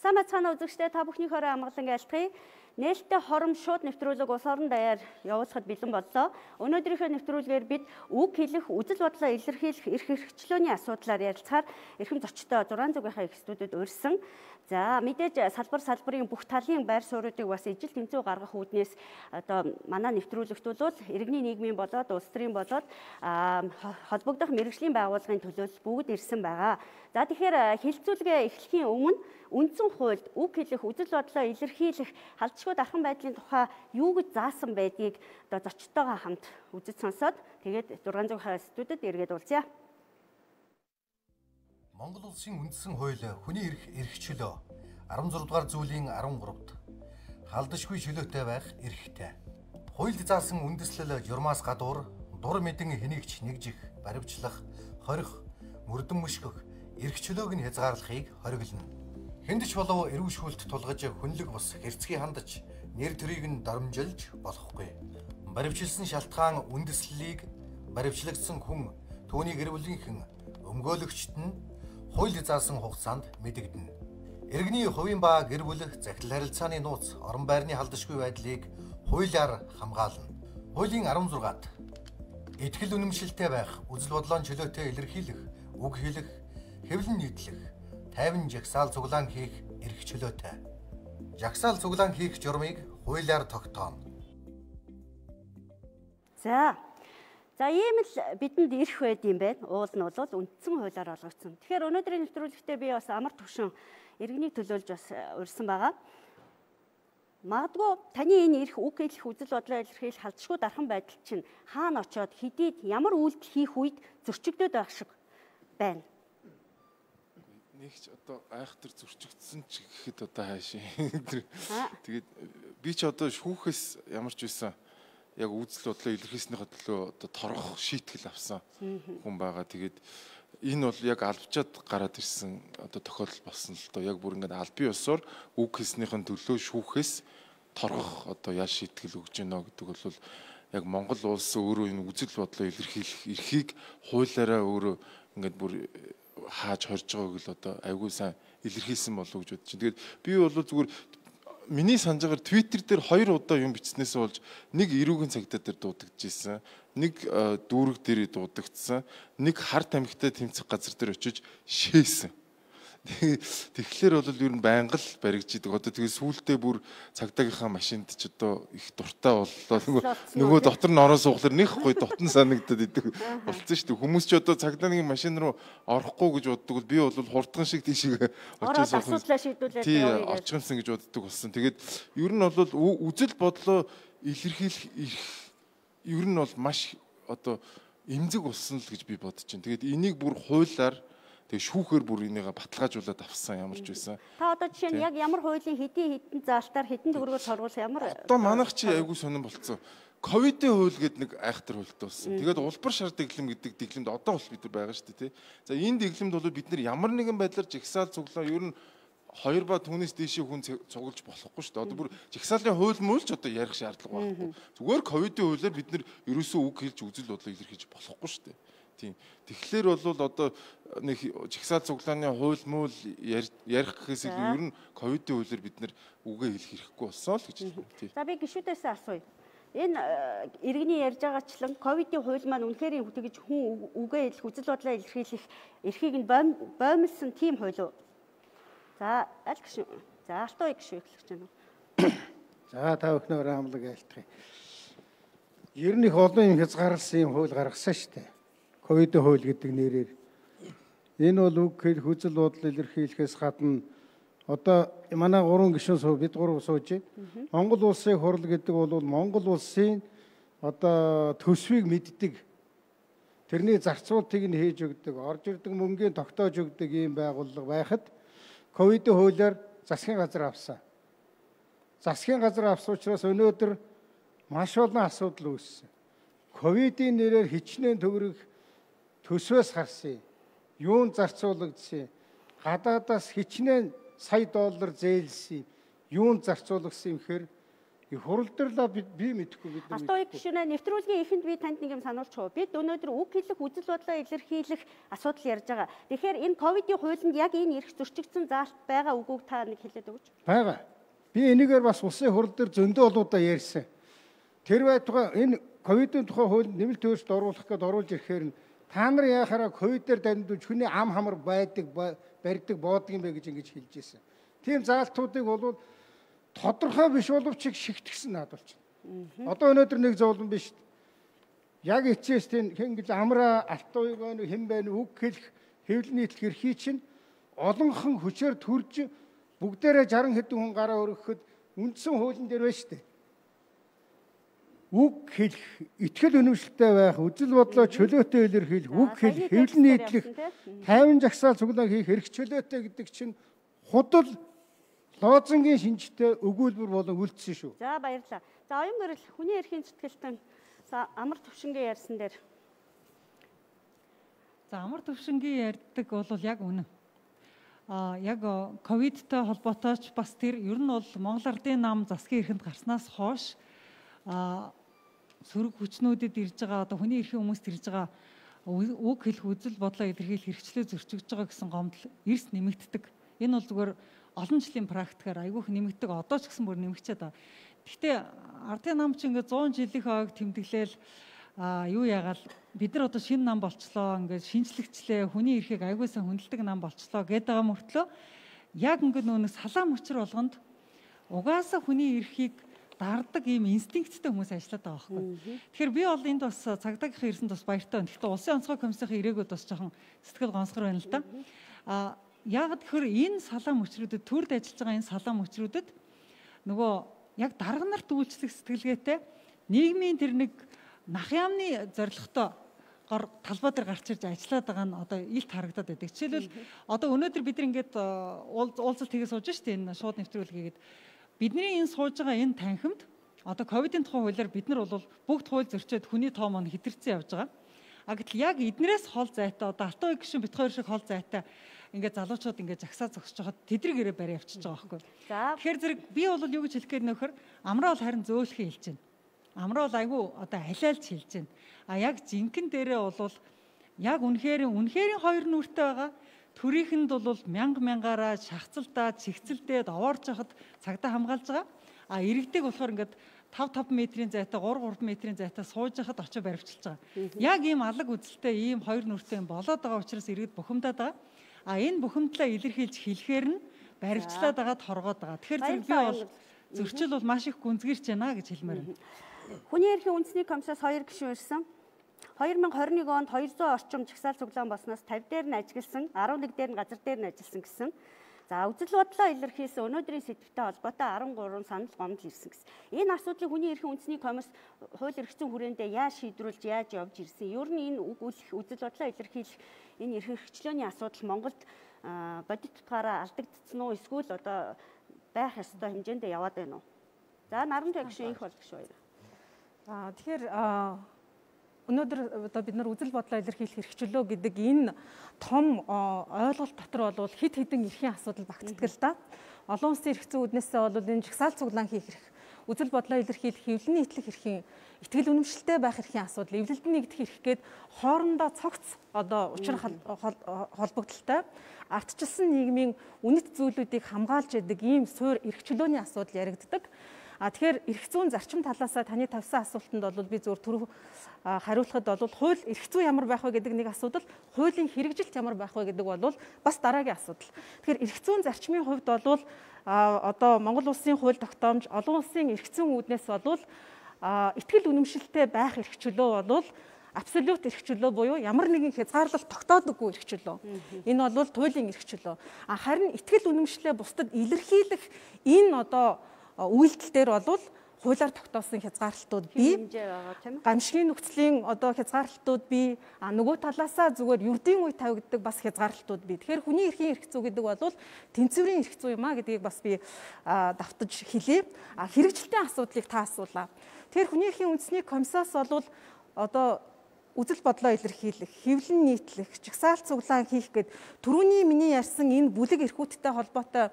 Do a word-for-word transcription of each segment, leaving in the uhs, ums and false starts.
Сайн бацхан үзэгчдээ та бүхний хороо амгалан айлтгая. Нээлттэй хором шууд нэвтрүүлэг улс орон даяар явуулахад бэлэн боллоо. Өнөөдрийнхөө нэвтрүүлгээр бид үг хэлэх, үзэл бодлоо илэрхийлэх эрх хэрэгчлөөний асуудлаар ярилцахаар эрхэм зочдтой зургаан зүгийнхаа их студид урьсан. За мэдээж салбар салбарын бүх талын байр суурьуудыг бас ижил тэмцүү гаргах үүднээс одоо манай нэвтрүүлэгт бол иргэний нийгмийн болоод улс төрийн болоод холбогдох мэргэжлийн байгууллагын төлөөлөл бүгд ирсэн байгаа. За тэгэхээр хэлэлцүүлгээ эхлэхийн өмнө үндсэн хуульд үг хэлэх, үзэл бодлоо илэрхийлэх, халдшгүй дархан байдлын тухай юу гэж заасан байдгийг одоо зочдтойгоо хамт үзэж сонсоод тэгээд зургаан зүгийнхаа студид эргээд уулзъя. Монгол улсын үндсэн хууль хүний эрх эрх чөлөө арван зурга дугаар зүйлийн арван гуравт халдшгүй чөлөөтэй байх эрхтэй. Хуульд заасан үндэслэл журмаас гадуур дур мэдэн хэнийгч нэгжих, баривчлах, хорих, мөрдөн мөшгөх эрх чөлөөг нь хязгаарлахыг хориглоно. Хэндч болов эрүүшүүлэлт тулгаж хүнлэг бус хэрцгий хандаж нэр төрийг нь доромжилж болохгүй. Баривчилсан шалтгаан үндэслэлийг баривчлагдсан хүн түүний гэр бүлийнхэн өмгөөлөгчт нь хууль заасан хугацаанд мэдэгдэнэ. Иргэний хувийн ба гэр бүл захирал харилцааны нууц орон байрны халдшгүй байдлыг хуулиар хамгаална. Хуулийн арван зургаат итгэл үнэмшилтэй байх, үзэл бодлоон чөлөөтэй илэрхийлэх, үг хэлэх, хэвлэн нийтлэх, тайван жагсаал цуглаан хийх эрх чөлөөтэй. Жагсаал цуглаан хийх журмыг хуулиар тогтооно. За За ийм л бидэнд ирэх байд юм байна. Уул нь бол үндсэн хуулиар олгогдсон. Тэгэхээр өнөөдрийн нэвтрүүлэгтээ би бас амар төвшин иргэнийг төлөөлж бас урьсан байгаа. Магадгүй таны энэ ирэх, үг хэлэх, үзэл бодлоо илэрхийлэх халдшгүй дархан байдал чинь хаана очоод хэдийд ямар үйлдэл хийх үед зөрчигдөд байх шиг байна. Нэгч одоо айхтар зөрчигдсөн ч гэхэд одоо хаашаа. Тэгээд би ч одоо шүүхээс ямар ч байсан яг үзэл бодлоо илэрхийлснийхээ төлөө одоо торгох шийтгэл авсан хүн байгаа. Тэгээд энэ бол яг албачаад гараад ирсэн одоо тохиолдол болсон л доо. Яг бүр ингээд албан ёсоор үг хэлснийхэн төлөө шүүхээс торгох одоо яа шийтгэл өгж гинэ гэдэг бол яг Монгол улс өөрөө энэ үзэл бодлоо илэрхийлэх эрхийг хуулиараа өөрөө ингээд бүр хааж хорж байгааг л одоо айгүй сайн илэрхийлсэн болов уу гэж бодож байна. Тэгээд би бол зүгээр миний санджаагаар Twitter дээр хоёр удаа юм бичснээс болж нэг эрүүгийн цагдаа дээр дуудагдж ирсэн, нэг дүүрэг дээр дуудагдсан, нэг хар тамхитай тэмцэх газар дээр очиж шээсэн. Тэгэхээр бол ер нь байнга л баригдчихдаг. Одоо тэгээ сүүлдээ бүр цагдаагийнхаа машинд ч одоо их дуртай боллоо. Нөгөө дотор нь орон сууглаар нэг гоё дотн санагдаад идэг болсон шүү дээ. Хүмүүс ч одоо цагдаагийн машин руу орохгүй гэж боддог. Би бол хурдхан шиг тийшээ очиж суух. Тий, очихсан гэж боддог болсон. Тэгээд ер нь бол үзэл бодлоо илэрхийлэх ер нь бол маш одоо эмзэг болсон л гэж би бодож байна. Тэгээд энийг бүр хуулиар тэг шүүхээр бүр энийг баталгаажуулаад авсан ямар ч байсан. Та одоо жишээ нь яг ямар хуулийн хэдийн хэдэн заалтаар хэдэн төгрөгөөр торгуул ямар одоо манайх чи айгүй сонирн болцсон. Ковидын хууль гэдэг нэг айхтар хуультай болсон. Тэгээд улбар шар дэглэм гэдэг дэглэмд одоо бол бид нар байгаа шүү дээ тий. За энэ дэглэмд бол бид нар ямар нэгэн байдлаар жигсаал цуглаа ер нь хоёр ба түүнээс дээшээ хүн цуглаж болохгүй шүү дээ. Одоо бүр жигсаалын хууль мөл ч одоо ярих шаардлага байхгүй. Зүгээр ковидын хуулиар бид нар ерөөсөө үг хэлж үзэл бодлоо илэрхийлж болохгүй шүү дээ. Тийм. Тэгэхээр бол одоо нэг жигсаал цуглааны хууль мөл ярих гэхээс илүү ер нь ковидын хуулиар бид нэр үгээ хэлэх хэрэггүй болсон л гэж байна. За би гишүүдээс асууя. Энэ иргэний ярьж байгаачлан ковидын хууль маань үнэхээр тэгж хүн үгээ хэлэх, үзэл бодлоо илэрхийлэх эрхийг нь боомлсон тийм хууль уу? За аль гişүү. За алтан ой гişүү эхлэх гэж байна. За та бүхнээр амлаг айлтгая. Ер нь их олон юм хязгаарласан юм хууль гаргасан шүү дээ. Ковидын хууль гэдэг нэрээр. Энэ бол үг хэлэх, үзэл бодол илэрхийлэхээс гадна одоо манай гурван гишүүн суу бид гурав сууж байна. Монгол улсын хурал гэдэг бол Монгол улсын одоо төсвийг мэддэг. Тэрний зарцуултыг нь хийж өгдөг, орж ирдэг мөнгөний тогтоож өгдөг ийм байгууллага байхад ковидын хуулиар засгийн газар авсан. Засгийн газар авсан учраас өнөөдөр маш олон асуудал үүссэн. Ковидын нэрээр хичнээн төгрөг төсвөөс харсан. Юунд зарцуулагдсан? Гадаадаас хичнээн сая доллар зээлсэн. Юунд зарцуулагдсан юм хэр И хуралдарлаа би би мэдэхгүй бид нар. Алтан уугийн гишүүнээ нэвтрүүлгийн эхэнд би танд нэг юм сануулчих уу. Бид өнөөдөр үг хэлэх, үзэл бодлоо илэрхийлэх асуудал ярьж байгаа. Тэгэхээр энэ ковидын хуулинд яг энэ эрх зөрчигдсөн заалт байгаа үгүйг та нэг хэлээд өгөөч. Байгаа. Би энийгээр бас улсын хурал дээр зөндөө олуудаа ярьсан. Тэр байтугай энэ ковидын тухай хууль нэмэлт өөрчлөлт оруулах гэдээ оруулж ирэхээр нь та нар яхаараа ковидээр дамжуулж хүний ам хамар байдаг, барьдаг, боодог юм бэ гэж ингэж хэлж ирсэн. Тийм заалтуудыг бол тодорхой биш боловч шигтгсэн надад байна. Одоо өнөөдөр нэг зовлон биш. Яг эцэс тийм ингэж амраа алтан уйгоо хэн байна үг хэлэх хэвлэл нийтлэх эрхий чинь олонхон хүчээр төрж бүгдээрээ жаран хэдэн хүн гараа өргөхөд үндсэн хуулийн дээр байна шүү дээ. Үг хэлэх, итгэл үнэмшилтэй байх, үзэл бодлоо чөлөөтэй илэрхийлэх, үг хэлэх, хэвлэл нийтлэх, тайван жагсаал цуглаан хийх эрх чөлөөтэй гэдэг чинь худал лоозонгийн шинжтэй өгүүлбэр болон үлдсэн шүү. За баярлалаа. За оюун гэрэл хүний эрхийн зэтгэлтэн амар төвшингийн ярьсан дээр. За амар төвшингийн ярьдаг бол яг үнэн. А яг ковидтой холбоотой ч бас тэр ер нь бол Монгол Ардын нам засгийн эрхэнд гарснаас хойш а сөрөг хүчнүүдэд ирж байгаа одоо хүний эрхийн хүмүүст ирж байгаа үг хэлэх үзэл бодлоо илэрхийлэх хэрэгчлээ зөрчигдөж байгаа гэсэн гомдол эрс нэмэгддэг. Энэ бол зүгээр олон жилийн практикаар айгүйх нэмэгддэг. Одоо ч гэсэн бүр нэмэгчээд байгаа. Гэхдээ Ардын нам ч ингээд зуун жилийнх ойг тэмдэглээл а юу яагаад бид нар одоо шинэ нам болчлоо ингээд шинжлэгчлээ хүний эрхийг айгүй сайн хүндэлдэг нам болчлоо гэдэг байгаа мөртлөө яг ингээд нөөс салаа мөчр болгонд угаасаа хүний эрхийг дардаг ийм инстинкттэй хүмүүс ажиллаад байгаа байхгүй. Тэгэхээр би бол энд бас цагдаагийнхаа ирсэнд бас баяртай байна. Гэхдээ улсын онцгой комиссийн ирээгүй бас жоохон сэтгэл гонсгор байна л да. А яг тэгэхээр энэ салаа мөчрүүдэд төрд ажиллаж байгаа энэ салаа мөчрүүдэд нөгөө яг дарга нарт үйлчлэх сэтгэлгээтэй нийгмийн тэр нэг нах яамны зорилготой гор талбай дээр гарч ирж ажиллаад байгаа нь одоо илт харагдаад байдаг. Жишээлбэл одоо өнөөдөр бид нар ингээд уулзалт хийгээ сууж штэ энэ шууд нэвтрүүлгээгээд бидний энэ сууж байгаа энэ танхимд одоо ковидын тухай хуулиар бид нар бол бүгд хууль зөрчөөд хүний тоо маань хэтэрсэн явж байгаа. А гэтэл яг эднээс хол зайтай одоо алтан уугийн гишүүн бит хоёр шиг хол зайтай ингээд залуучууд ингээд жагсаа зогсож хаад тэдрэг ирээ барь явчихж байгаа байхгүй. Тэгэхээр зэрэг би бол юу гэж хэлэх гээд нөхөр амраа бол харин зөөлхий хэлж байна. Амраа бол айгүй одоо халиалж хэлж байна. А яг жинхэнэ дээрээ бол яг үнэхээр үнэхээр хоёр нүртэй байгаа. Төрийнхэнд бол мянга мянгаараа шахацалдаа, чигцэлдээд овоорч хахад цагдаа хамгаалж байгаа. А иргэдэг болохоор ингээд тавь тавь метрийн зайтай, гурав гурав метрийн зайтай сууж хахад очиж баривчилж байгаа. Яг ийм алаг үзэлтэй ийм хоёр нүртэй болоод байгаа учраас иргэд бухимдаад байгаа. А энэ бухимдлаа илэрхийлж хэлэхээр нь баривчлаад байгаад хоргоод байгаа. Тэгэхээр би бол зөрчил бол маш их гүнзгийрч байна гэж хэлмээр байна. Хүний эрхийн үндэсний комиссаас хоёр гишүүн ирсэн. хоёр мянга хорин нэг онд хоёрдугаар орчим жагсаал цуглаан болсноос тавь дээр нь ажилласан, арван нэг дээр нь газар дээр нь ажилласан гэсэн. За үзэл бодлоо илэрхийлсэн өнөөдрийн сэдвтэй холбоотой арван гурван санал гомдол ирсэн гэсэн. Энэ асуудлыг хүний эрхийн үндэсний комисс хууль эрх зүйн хүрээндээ яаж шийдвэрлэж яаж явж ирсэн. Ер нь энэ үзэл бодлоо илэрхийлэх энэ эрх хэрэгчлөөний асуудал Монголд бодит тутгаараа алдагдсан уу эсвэл одоо байх ёстой хэмжээндээ яваад байна уу? За Нарант гишүүн их болгох шүү. Аа тэгэхээр өнөөдөр одоо бид нар үзэл бодлоо илэрхийлэх хэрэгчлөө гэдэг энэ том ойлголт дотор бол хэд хэдэн эрхийн асуудал багтдаг л да. Олон улсын эрх зүйн үүднээсээ бол энэ жагсаал цуглаан хийх эрх, үзэл бодлоо илэрхийлэх, хэвлэл нийтлэх эрхийн, итгэл үнэмшилтэй байх эрхийн асуудал, эвлэлд нэгдэх эрх гээд хоорондоо цогц одоо учир холбогдолтой ардчилсан нийгмийн үнэт зүйлүүдийг хамгаалж яадаг ийм суур эрхчлөөний асуудал яригддаг. А тэгэхээр эрх зүйн зарчим талаасаа таны тавьсан асуултанд бол би зөвхөн түрүү хариулахад бол хууль эрх зүй ямар байх вэ гэдэг нэг асуудал, хуулийн хэрэгжилт ямар байх вэ гэдэг бол бас дараагийн асуудал. Тэгэхээр эрх зүйн зарчмын хувьд бол одоо Монгол улсын хууль тогтоомж, олон улсын эрх зүйн үүднээс бол итгэл үнэмшилтэй байх эрх чөлөө бол абсолют эрх чөлөө буюу ямар нэгэн хязгаарлалт тогтоодоггүй эрх чөлөө. Энэ бол туйлын эрх чөлөө. А харин итгэл үнэмшлээ бусдад илэрхийлэх энэ одоо үйлдэл дээр бол хуулиар тогтоосон хязгаарлалтууд бий. Гамшигын нөхцөлийн одоо хязгаарлалтууд бий. А нөгөө талаасаа зүгээр ердийн үе тавигддаг бас хязгаарлалтууд бий. Тэгэхээр хүний эрхийн эрх зүй гэдэг бол тэнцвэрийн эрх зүй юм а гэдгийг бас би давтаж хэлье. А хэрэгжилтийн асуудлыг та асуулаа. Тэгэхээр хүний эрхийн үндэсний комиссаас бол одоо үзэл бодлоо илэрхийлэх, хэвлэл нийтлэх, жагсаал цуглаан хийх гэд түрүүний миний ярьсан энэ бүлэг эрхүүдтэй холбоотой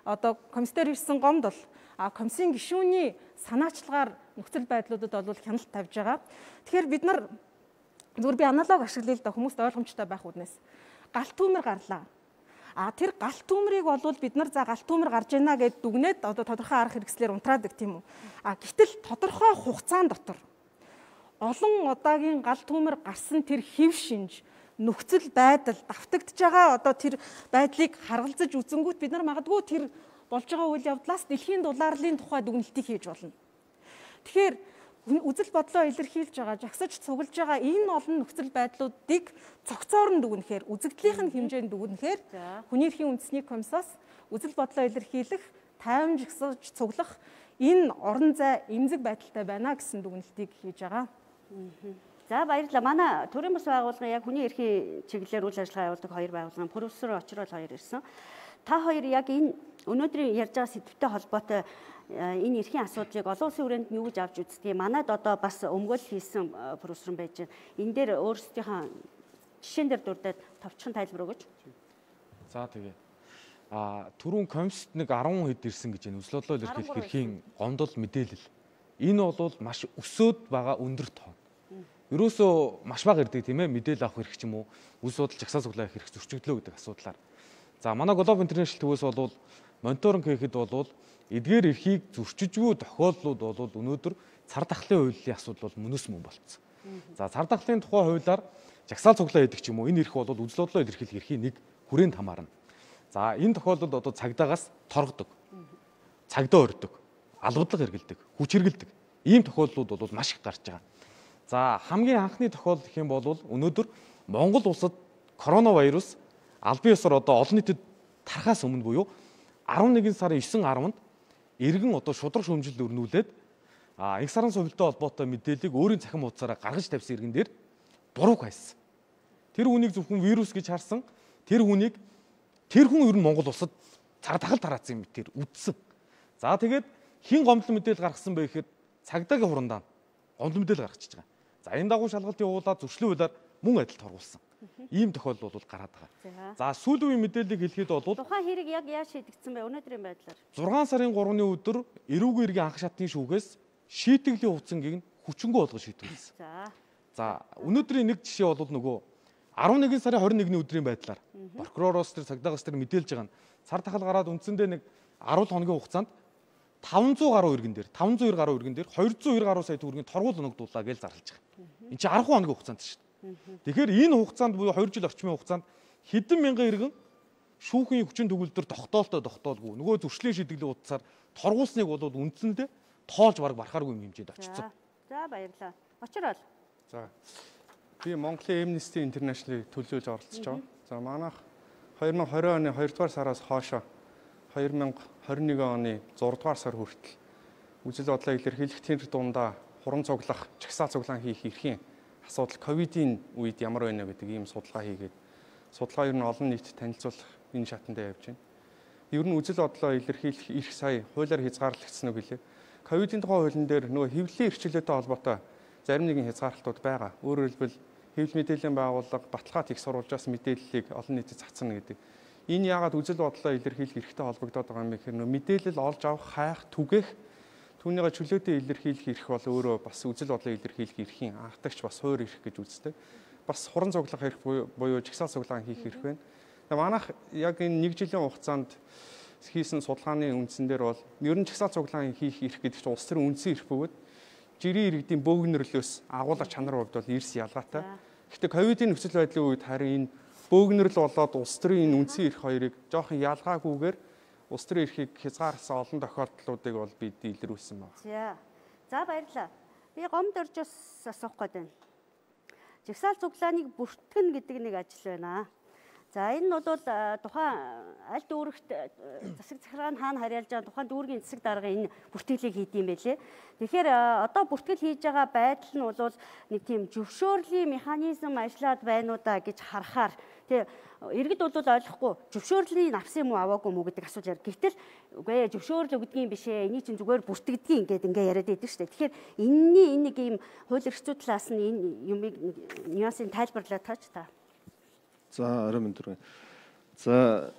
одоо комиссээр ирсэн гомдол а комиссийн гишүүний санаачлагаар нөхцөл байдлуудад бол хяналт тавьж байгаа. Тэгэхээр бид нар зүгээр би аналог ашиглая л да хүмүүст ойлгомжтой байх үднээс галт түүмэр гарлаа. А тэр галт түүмрийг бол бид нар за галт түүмэр гарч ийна гэд дүгнээд одоо тодорхой арга хэрэгслээр унтраадаг тийм үү. А гэтэл тодорхой хугацаан дотор олон удаагийн галт түүмэр гарсан тэр хэв шинж нөхцөл байдал давтагдж байгаа одоо тэр байдлыг харгалзаж үзэнгүүт бид нар магадгүй тэр болж байгаа үйл явдлаас дэлхийн дулаарлын тухай дүгнэлтийг хийж болно. Тэгэхээр үзэл бодлоо илэрхийлж байгаа, жагсаж цуглаж байгаа энэ олон нөхцөл байдлуудыг цогцоор нь дүгнэхээр, үзэгдлийн хэмжээнд дүгнэхээр хүний эрхийн үндэсний комиссаас үзэл бодлоо илэрхийлэх, тайван жагсаж цуглах энэ орон зай эмзэг байдалтай байна гэсэн дүгнэлтийг хийж байгаа. За баярлалаа. Манай төрийн бас байгууллага яг хүний эрхийн чиглэлээр үйл ажиллагаа явуулдаг хоёр байгууллага, профессор Очрол хоёр ирсэн. Та хоёр яг энэ өнөөдрийн ярьж байгаа сэдвтэй холбоотой энэ эрхийн асуудлыг олон улсын хүрээнд нь юу гэж авч үздэг. Манайд одоо бас өмгөөл хийсэн профессор байж байна. Энэ дээр өөрсдийнхээ жишээн дээр дурдаад товчхон тайлбар өгөөч. За тэгээ. А түрүүн комист нэг арван хэд ирсэн гэж байна. Үзэл бодлоо илэрхийлэх эрхийн гомдол мэдээлэл. Энэ бол маш өсөөд байгаа өндөр тоо. Ерөөсөө маш бага ирдэг тийм ээ. Мэдээлэл авах хэрэг ч юм уу. Үзэл бодол жагсаа цуглах хэрэг зөрчигдлөө гэдэг асуудлаар. За манай Global International төвөөс бол мониторинг хийхэд бол эдгээр эрхийг зөрчижгүй тохиолдлууд бол өнөөдөр цар тахлын хуулийн асуудал бол мөнөс мөн болцсон. За цар тахлын тухай хуулиар жагсаал цуглаа гэдэг ч юм уу энэ эрх бол үзэл бодлоо илэрхийлэх эрхийн нэг хүрээнд хамаарна. За энэ тохиолдолд одоо цагдаагаас торгодог, цагдаа өрдөг, албадлага хэрэгэлдэг, хүч хэрэгэлдэг ийм тохиолдлууд бол маш их гарч байгаа. За хамгийн анхны тохиолдол гэх юм бол өнөөдөр Монгол улсад коронавирус албан ёсоор одоо олон нийтэд тарахаас өмнө буюу арван нэгэн сарын есен гаруйд иргэн одоо шудраг шүүмжилт өрнүүлээд а их сарын сувилттай холбоотой мэдээллийг өөрийн цахим хуудасаараа гаргаж тавьсан иргэн дээр буруу хайсан. Тэр хүнийг зөвхөн вирус гэж харсан. Тэр хүнийг тэр хүн ер нь Монгол улсад цар тахал тараацсан юм тэр үдсэн. За тэгээд хин гомдол мэдээлэл гаргасан бэ гэхэд цагдаагийн хурандаа гомдол мэдээлэл гаргачихж байгаа. За энэ дагуу шалгалт явуулаад зөрчлийн хуулиар мөн адил торгуулсан. Ийм тохиолдол бол гараад байгаа. За сүүлийн үеийн мэдээллийг хэлэхэд бол тухайн хэрэг яг яаж шийдэгдсэн бэ өнөөдрийн байдлаар? зургаан сарын гуравны өдөр эрүүгийн иргэн анх шатны шүүхээс шийтгэлийн хугацаангийг хүчингү болгож шийдвэрлэсэн. За. За өнөөдрийн нэг жишээ бол нөгөө арван нэгэн сарын хорин нэгний өдрийн байдлаар прокуророос тэр цагдаагаас тэр мэдээлж байгаа нь цар тахал гараад үндсэндээ нэг арван хоногийн хугацаанд таван зуун гаруй иргэн дээр таван зуун гаруй иргэн дээр хоёр зуун хоёр гаруй сая төгрөгийн торгуул оногдуулаа гэж зарлаж байгаа. Энд чинь арван хоногийн хугацаанд шүү дээ. Тэгэхээр энэ хугацаанд буюу хоёр жил орчмын хугацаанд хэдэн мянган иргэн шүүхийн хүчин төгөлдөр тогтоолтой тогтоолгүй нөгөө зөрчлийн шийдэглийн утсаар торгуулсныг бол үндсэндээ тоолж бараг барахааргүй юм хэмжээнд очсон. За баярлалаа. Очрол. За. Би Монголын Amnesty International-ыг төлөөлж оролцож байгаа. За манайх две тысячи двадцать оны хоёрдугаар сараас хойшоо две тысячи двадцать one оны зургаадугаар сар хүртэл үзэл бодлоо илэрхийлэх тэр дундаа хуран цуглах, чагсаал цуглаан хийх эрхийн асуудал ковидын үед ямар байна гэдэг ийм судалгаа хийгээд судалгаа ер нь олон нийтэд танилцуулах энэ шатанд явж байна. Ер нь үзэл бодлоо илэрхийлэх эрх сая хуулиар хязгаарлагдсан үг гэлээ. Ковидын тухай хуулийн дээр нөгөө хэвлэлийн эрхчлөлтэй холбоотой зарим нэгэн хязгаарлалтууд байгаа. Өөрөөр хэлбэл хэвлэл мэдээллийн байгууллага баталгаат их сурвалжаас мэдээллийг олон нийтэд цацна гэдэг. Энэ яагаад үзэл бодлоо илэрхийлэх эрхтэй холбогдоод байгаа юм бэ гэхээр мэдээлэл олж авах, хайх, түгээх түүнийгээ чөлөөтэй илэрхийлэх эрх бол өөрөө бас үзэл бодлоо илэрхийлэх эрхийн анхдагч бас хувь эрх гэж үздэг. Бас хуран цуглах эрх буюу жагсаал цуглаан хийх эрх байна. Тэгээ манайх яг энэ нэг жилийн хугацаанд хийсэн судалгааны үндсэн дээр бол ер нь жагсаал цуглаан хийх эрх гэдэг чинь улс төрийн үндсэн эрх бөгөөд жирийн иргэдийн бөөгнөрлөөс агуулга чанар хувьд бол эрс ялгаатай. Гэхдээ ковидын нөхцөл байдлын үед харин энэ бөөгнөрл болоод улс төрийн энэ үндсэн эрх хоёрыг жоохон ялгаагүйгээр улс төрийн эрхийг хязгаарласан олон тохиолдлуудыг бол бид илрүүлсэн байна. За. За баярлалаа. Би гомд оржоос асуух гээд байна. Жагсаал цуглааныг бүртгэн гэдэг нэг ажил байна. За энэ нь бол тухайн аль дүүрэгт засаг захиргааны хаана харьяалж байгаа тухайн дүүргийн засаг дарга энэ бүртгэлийг хийдэм байлээ. Тэгэхээр одоо бүртгэл хийж байгаа байдал нь бол нэг тийм зөвшөөрлийн механизм ажиллаад байна уу да гэж харахаар тий иргэд бол ойлгохгүй зөвшөөрлийн авсан юм уу аваагүй мүү гэдэг асуулт яар. Гэтэл үгүй зөвшөөрөл өгдгийн биш ээ. Энийг чинь зүгээр бүртгэдгийн ингээд ингээ яриад байдаг шүү дээ. Тэгэхээр энэний энэ нэг юм хууль эрх зүйн талаас нь энэ юмыг нюансыг тайлбарлаад таач та. За орой мэнд түргэн. За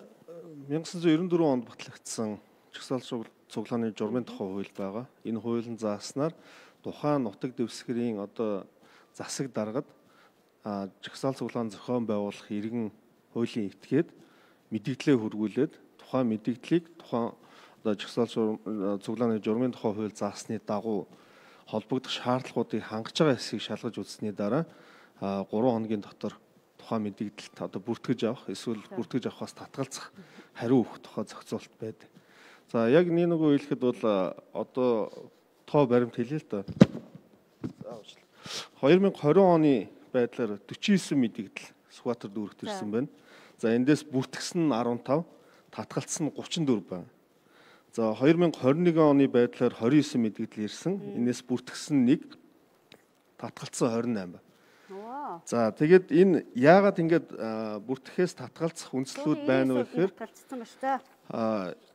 천구၉девять онд батлагдсан жагсаал цуглааны журмын тухай хууль байгаа. Энэ хуулийн зааснаар тухайн нутаг дэвсгэрийн одоо засаг даргад жагсаал цуглаан зохион байгуулах иргэн хуулийн этгээд мэдээлэлээ хөргүүлээд тухайн мэдээллийг тухайн одоо жагсаал цуглааны журмын тухай хууль заасны дагуу холбогдох шаардлагуудыг хангаж байгаа хэсгийг шалгаж үзсний дараа гурван хоногийн дотор тухайн мэдээлэлт одоо бүртгэж авах эсвэл бүртгэж авахаас татгалзах хариу өгөх тухай зохицуулт байдаг. За яг нэг нэг үйлэхэд бол одоо тоо баримт хэлээ л да. две тысячи двадцать оны байдлаар forty nine мэдээлэл Сүхбаатар дүүрэгт ирсэн байна. За эндээс бүртгэсэн нь fifteen, татгалцсан нь thirty-four байна. За две тысячи twenty-one оны байдлаар twenty-nine мэдээлэл ирсэн. Энээс бүртгэсэн нэг, татгалцсан twenty-eight байна. За тэгээд энэ яагаад ингэж бүртгэхээс татгалзах үндслүүд байна вэ гэхээр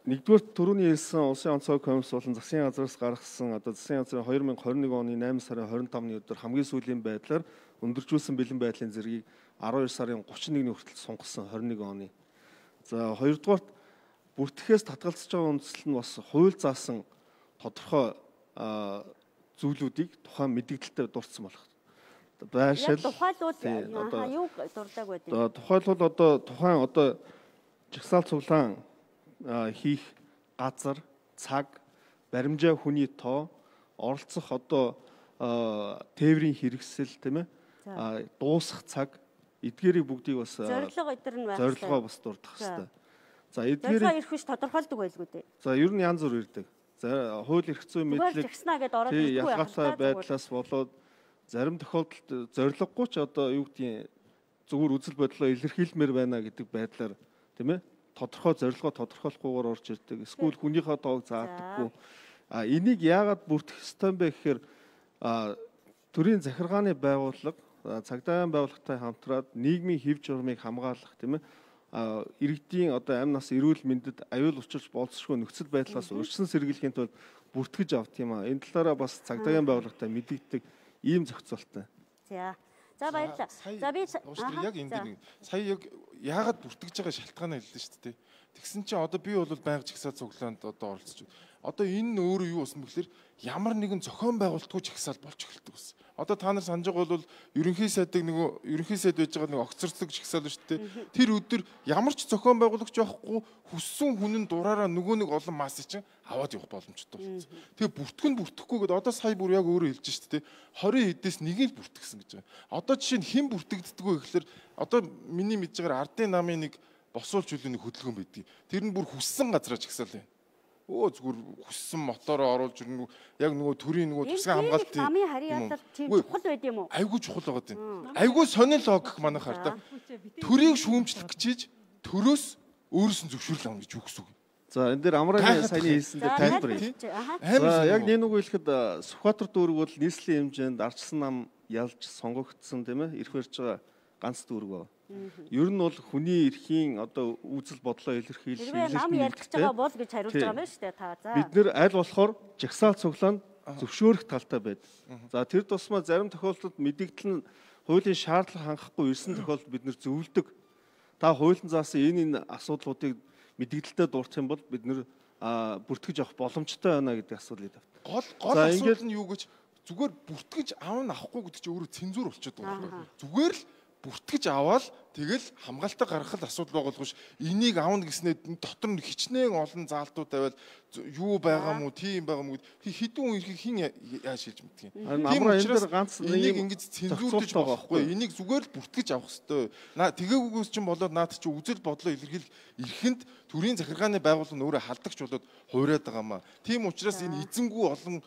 нэгдүгээр түрүүний хэлсэн улсын онцгой комисс болон засгийн газраас гаргасан одоо засгийн газрын две тысячи twenty-one оны eight сарын twenty-five-ны өдөр хамгийн сүүлийн байдлаар өндөржүүлсэн бэлэн байдлын зэргийг twelve сарын thirty-one-ны хүртэл сунгасан twenty-one оны. За хоёрдугаар бүртгэхээс татгалзаж байгаа үндсэл нь бас хууль заасан тодорхой зүйлүүдийг тухайн мэдээлэлтэй дурдсан болох. Байшил тухайлбал юу дурдаг байдаг? Тухайлбал одоо тухайн одоо жагсаал цуглаан хийх газар, цаг, баримжаа хүний тоо, оролцох одоо тээврийн хэрэгсэл тийм ээ дуусах цаг эдгээрийг бүгдийг бас зорилго өдр нь байх. Зорилгоо бас дурдах хэрэгтэй. За эдгээрийг зорилгоо ирэх биш тодорхойлдог байлгүй дээ. За ер нь янз бүр ирдэг. За хууль эрх зүйн мэдлэг ялгаатай байдлаас болоод зарим тохиолдолд зорилгогүй ч одоо юу гэдгийг зүгээр үзэл бодлоо илэрхийлмээр байна гэдэг байдлаар тийм ээ тодорхой зорилгоо тодорхойлохгүйгээр орж ирдэг. Эсвэл хүнийхээ тоог заадаггүй. А энийг яагаад бүртгэх ёстой юм бэ гэхээр төрийн захиргааны байгууллага цагдаагийн байгууллагатай хамтраад нийгмийн хэв журмыг хамгаалах тийм ээ иргэдийн одоо амь нас эрүүл мэндэд аюул учирч болцсошгүй нөхцөл байдлаас урьдчилан сэргийлэхийн тулд бүртгэж авт юм а. Энэ талаараа бас цагдаагийн байгууллагатай мэдэгддэг ийм зохицуулттай. За. За баярлалаа. За би яг энэ дээр сая яг яагаад бүртгэж байгаа шалтгаанаа хэллээ шүү дээ. Тэгсэн чинь одоо би бол байнга жагсаал цуглаанд одоо оролцож байна. Одоо энэ нь өөрөө юу болсон бэхлээр ямар нэгэн зохион байгуулалтгүй жагсаал болж эхэлдэг гэсэн. Одоо та нар санаж байгаа бол ерөнхий сайдыг нөгөө ерөнхий сайд байж байгаа нэг огцорцлог жагсаал шүү дээ. Тэр өдөр ямар ч зохион байгуулагч явахгүй хүссэн хүн нь дураараа нөгөө нэг олон масс чинь аваад явах боломжтой болсон. Тэгээ бүртгэн бүртгэхгүй гэдэг одоо сая бүр яг өөрөө хэлж шүү дээ. twenty хэдээс нэгийг бүртгэсэн гэж байгаа. Одоо жишээ нь хэн бүртгэгддэггүй гэхэлэр одоо миний мэдж байгаа ардын намын нэг босуулж үлээний хөдөлгөөн байдгийг. Тэр нь бүр хүссэн газраа жагсаал байна. Өө зүгээр хүссэн мотороо оруулж ирнэ. Яг нөгөө төрийн нөгөө тусгай хамгаалтын намын харьяалал тийм чухал байд юм уу? Айгүй чухал байгаа тийм. Айгүй сонир логик манайхаар та. Төрийг шүүмжлэх гэж төрөөс өөрөөс нь зөвшөөрөл авах гэж юу гэсэн үг. За энэ дээр амрын саяны хэлсэн дээр тайлбар хий. За яг нэг нэг хэлэхэд Сүхбаатар дүүрэг бол нийслэлийн хэмжээнд ардчсан нам ялж сонгогдсон тийм ээ ирэх барьж байгаа ганц дүүрэг байна. Ер нь бол хүний эрхийн одоо үзэл бодлоо илэрхийлэх нам ярьж байгаа бол гэж хариулж байгаа юм шүү дээ та. За бид нэр аль болохоор жагсаал цуглаанд зөвшөөрөх талтай байдаг. За тэр тусмаа зарим тохиолдолд мэдээлэл нь хуулийн шаардлага хангахгүй ирсэн тохиолдолд бид нэр зөвлөдөг. Та хуулийн заасан энэ энэ асуудлуудыг мэдээлэлтэй дурдах юм бол бид нэр бүртгэж авах боломжтой байна гэдэг асуудлыг тавьдаг. Гол гол асуудал нь юу гэж зүгээр бүртгэж аав нь авахгүй гэдэг чинь өөрөө цензур болчиход байгаа. Зүгээр л бүртгэж аваад тэгэл хамгаалтаа гаргах асуудал байгуулгаш энийг аавна гэснээр дотор нь хичнээн олон заалтууд тавиад юу байгаа мó тийм байгаа мó хэдэн хүн ирэх хин яаж шилж мэдгийг. Тийм учраас ганц энийг ингэж цензурдэж байгаа байхгүй. Энийг зүгээр л бүртгэж авах хэрэгтэй. Наа тэгээгүйгээс чинь болоод наад чи үзэл бодлоо илэрхийлэх эрхэнд төрийн захиргааны байгууллага өөрөө халдагч болоод хуурайад байгаа маа. Тийм учраас энэ эзэнгүү олон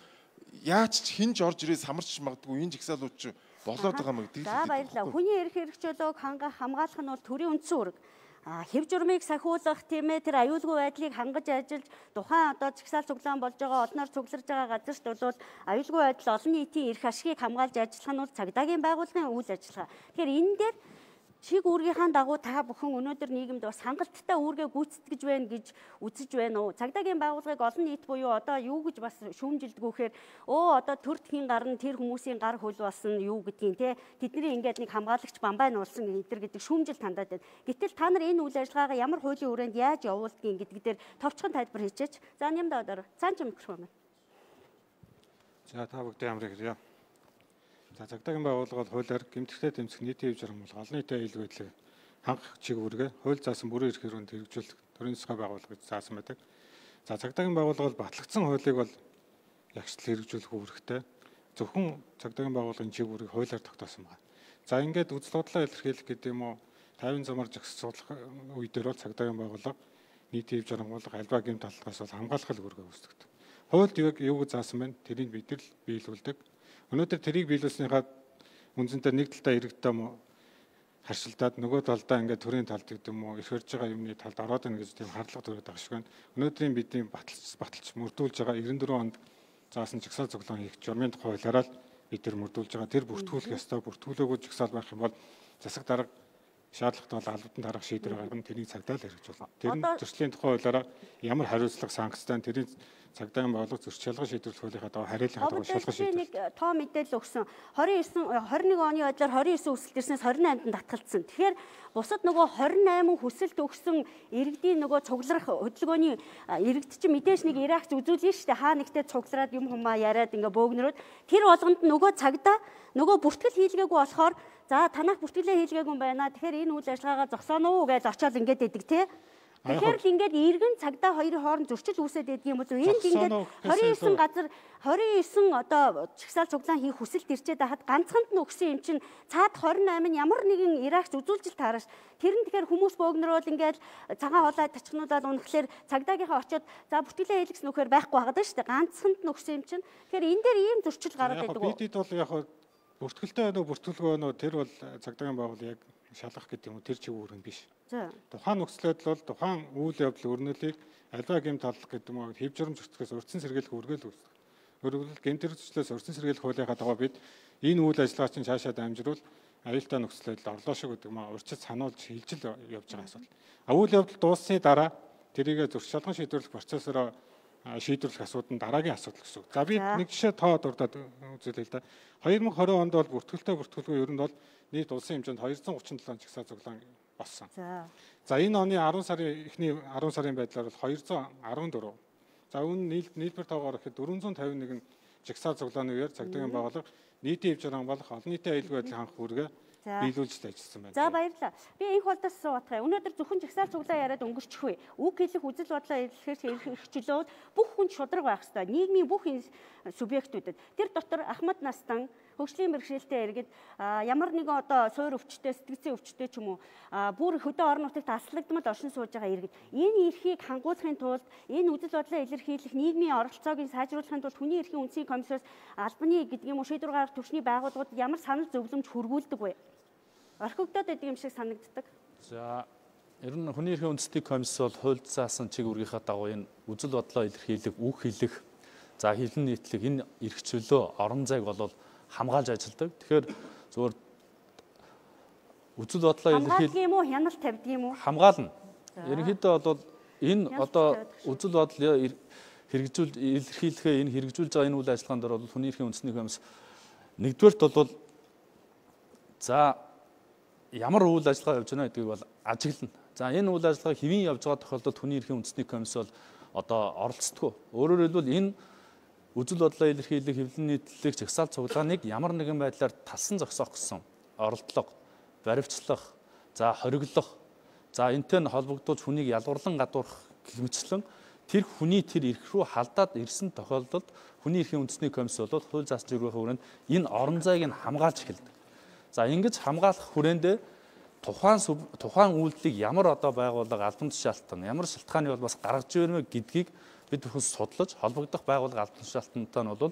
яаж ч хинж орж ирээ самарч магадгүй энэ жагсаалууд чи болоод байгаа мэй гэдэг. За баярлалаа. Хүний эрх хэрэгчлөөг хангах хамгаалах нь бол төрийн үндсэн үүрэг. А хэв журмыг сахиулах тийм ээ тэр аюулгүй байдлыг хангаж ажиллаж тухайн одоо жагсаал цуглаан болж байгаа олноор цугларж байгаа газарт бол аюулгүй байдал олон нийтийн эрх ашигыг хамгаалж ажиллах нь бол цагдаагийн байгууллагын үйл ажиллагаа. Тэгэхээр энэ дээр чиг үүргийнхаа дагуу та бүхэн өнөөдөр нийгэмд бас хангалттай үүргээ гүйцэтгэж байна гэж үзэж байна уу? Цагдаагийн байгууллагыг олон нийт буюу одоо юу гэж бас шүүмжилдгүүхээр өө одоо төр тхийн гар нь тэр хүмүүсийн гар хөл болсон юу гэдгийг те тэдний ингээд нэг хамгаалагч бамбай нуулсан эдэр гэдэг шүүмжил тандаад байна. Гэтэл та нар энэ үйл ажиллагаагаа ямар хуулийн хүрээнд яаж явуулдгийг гэдэг дээр товчхон тайлбар хийчээч. За нямдаа одоо цаан ч микрофон байна. За та бүгд ямар хэрэг. За цагдаагийн байгууллага бол хуулиар гэмтэгтэй тэмцэх нийтийн хэв журам бол олон нийтийн аюулгүй байдлыг хангах чиг үүргээ хууль заасан бүрэн эрх хэрэгүнд хэрэгжүүлэх төрийн засгийн байгууллага гэж заасан байдаг. За цагдаагийн байгууллага бол батлагдсан хуулийг бол ягштал хэрэгжүүлэх үүрэгтэй. Зөвхөн цагдаагийн байгууллагын чиг үүргийг хуулиар тогтоосон байна. За ингээд үзэл бодлоо илэрхийлэх гэдэг юм уу тайван замаар жагсуулах үе дээр бол цагдаагийн байгууллага нийтийн хэв журам бол альва гэмт талхаас бол хамгаалах үүргээ үүсгэдэг. Хуульд юу гэж заасан байна? Тэрийг бид нар биелүүлдэг. Өнөөдөр тэрийг биелүүлснийхаа үнцэнтэй нэг талдаа иргэдтэй мо харшилдаад нөгөө талдаа ингээд төрийн талд гэдэг юм уу их хөрж байгаа юмны талд ороод ийн гэж тийм харлага төрөд байгаа шиг байна. Өнөөдрийн бидний баталж баталж мөрдүүлж байгаа девяносто дөрвөн онд заасан жагсаал цуглаан хийх журмын тухай хуулиараа бид нар мөрдүүлж байгаа. Тэр бүртгүүлэх ёстой. Бүртгүүлээгүй жагсаал байх юм бол засаг дарга шаардлагатай бол албадан дараах шийдвэр гаргана. Тэрийг цагдаа л хэрэгжүүлнэ. Тэр нь төслийн тухай хуулиараа ямар хариуцлага санкцтай тэрийг цагдаагийн байгууллага зөрч шалгах шийдвэрлэх хуулийнхаа дагуу хариулахаа дагуу шалгах шийдвэр. Нэг тоо мэдээлэл өгсөн. двадцать девять тwenty-one оны байдлаар двадцать nine хүсэлт ирснээс twenty eight-нд татгалцсан. Тэгэхээр бусад нөгөө twenty eight хүсэлт өгсөн иргэдийн нөгөө цугларах хөдөлгөөний иргэд чинь мэдээж нэг Иракч үзүүлнэ шүү дээ. Хаа нэгтээ цуглараад юм хумаа яриад ингээ бөөгнөрөөд тэр болгонд нөгөө цагдаа нөгөө бүртгэл хийлгээгүй болохоор за танах бүртгэлээ хийлгээгүй юм байна. Тэгэхээр энэ үйл ажиллагаагаа зогсооно уу гэж очиод ингээд идэг тий. Тэгэхээр л ингээд иргэн цагдаа хоёрын хооронд зөрчил үүсээд байдаг юм уу? Энд ингээд twenty nine газар twenty nine одоо чагсаал цуглаан хийх хүсэлт ирчээд хахад ганцханд нь өгсөн юм чинь цаад twenty eight нь ямар нэгэн Иракч үзүүлжил таараш. Тэр нь тэгэхээр хүмүүс бөөгнөрөөл ингээд цагаан хоолой тачнуулаад унахлаар цагдаагийнхаа очиод за бүртгэлээ хийлгэсэн нөхөр байхгүй байгаа шүү дээ. Ганцханд нь өгсөн юм чинь. Тэгэхээр энэ дээр ийм зөрчил гараад байдаг уу? Бидэд бол яг бүртгэлтэй байна уу, бүртгэлгүй байна уу тэр бол цагдаагийн байгууллага яг шалгах гэдэг юм уу тэр чиг үүрэг биш. Тухайн нөхцөл байдал бол тухайн үйл явдал өрнөлийг альва гэмт талах гэдэг юм уу хэв журам зөрчигдөхөөс урьдчилан сэргийлэх үргэлж үүсдэг. Өөрөөр гэмтэрчлээс урьдчилан сэргийлэх хуулийнхаа дагуу бид энэ үйл ажиллагаа чинь цаашаа дамжруул аюултай нөхцөл байдал орлоо шиг гэдэг юм аа урьдчил сануулж хилжил явж байгаа асуудал. А үйл явдал дууссаны дараа тэрийг зөрч шалган шийдвэрлэх процессороо шийдвэрлэх асуудал нь дараагийн асуудал гэсэн үг. За би нэг жишээ тоо дурдаад үзүүлээ л да. twenty twenty онд бол бүртгэлтэй бүртгэлгүй ер нь бол нийт улсын хэмжээнд two hundred thirty-seven жагсаал цуглаан болсон. За. За энэ оны ten сарын эхний ten сарын байдлаар бол two hundred fourteen. За үүн нийлбэр тоогоор ихэд four hundred fifty-one жагсаал цуглааны үеэр цагдаагийн байгууллага нийтийн хэв журам болох олон нийтийн аюулгүй байдлыг хангах үүргээ биелүүлж ажилласан байна. За баярлалаа. Би энэ холдоос суудах. Өнөөдөр зөвхөн жагсаал цуглаа яриад өнгөрчихвээ. Үг хэлэх үзэл бодлоо илэрхийлэх эрхчлөөд бүх хүн шудраг байх ёстой. Нийгмийн бүх субъектүүдэд тэр дотор Ахмад Настан хөгжлийн бэрхшээлтэй иргэд ямар нэгэн одоо суур өвчтөй сэтгцийн өвчтөй ч юм уу бүр хөдөө орон нутагт аслагдмал оршин сууж байгаа иргэд энэ эрхийг хангуулахын тулд энэ үзэл бодлоо илэрхийлэх нийгмийн оролцоог сайжруулахын тулд хүний эрхийн үндэсний комиссараас албаны гэдэг юм уу шийдвэр гаргах түвшний байгууллагууд ямар санал зөвлөмж хүргүүлдэг вэ? Орхигдоод байдаг юм шиг санагддаг. За ер нь хүний эрхийн үндэсний комисс бол хуульд заасан чиг үүргийнхаа дагуу энэ үзэл бодлоо илэрхийлэх, үг хэлэх, за хэлэн нийтлэх энэ эрх чөлөө орон зайг бол хамгаалж ажилладаг. Тэгэхээр зөвхөн үзэл бодлоо илэрхийлэх юм уу, хяналт тавьдаг юм уу? Хамгаална. Ерөнхийдөө бол энэ одоо үзэл бодлоо хэрэгжүүл илэрхийлэхээ энэ хэрэгжүүлж байгаа энэ үйл ажиллагаанд бол хүний эрхийн үндэсний комисс нэгдүгээрт бол за ямар үйл ажиллагаа явж байна гэдгийг бол ажиглана. За энэ үйл ажиллагаа хэвэн явж байгаа тохиолдолд хүний эрхийн үндэсний комисс бол одоо оролцдог. Өөрөөр хэлбэл энэ үзэл бодлоо илэрхийлэх, хэвлэн нийтлэх, жагсаал цуглааныг ямар нэгэн байдлаар талсан зогсоох гэсэн оролдлого, баривчлах, за хориглох, за энтэй нь холбогдуулж хүнийг ялгуурлан гадуурх гэмчлэн тэр хүний тэр эрх рүү халдаад ирсэн тохиолдолд хүний эрхийн үндэсний комисс бол хууль заасан чиглэлийн хүрээнд энэ орон зайг нь хамгаалж эхэлдэг. За ингэж хамгаалах хүрээндээ тухайн тухайн үйлдэлийг ямар одоо байгууллага албан тушаалтан, ямар шалтгааны бол бас гаргаж ирнэ гэдгийг бид бүхэн судлаж холбогдох байгууллага албан тушаалтантай нь бол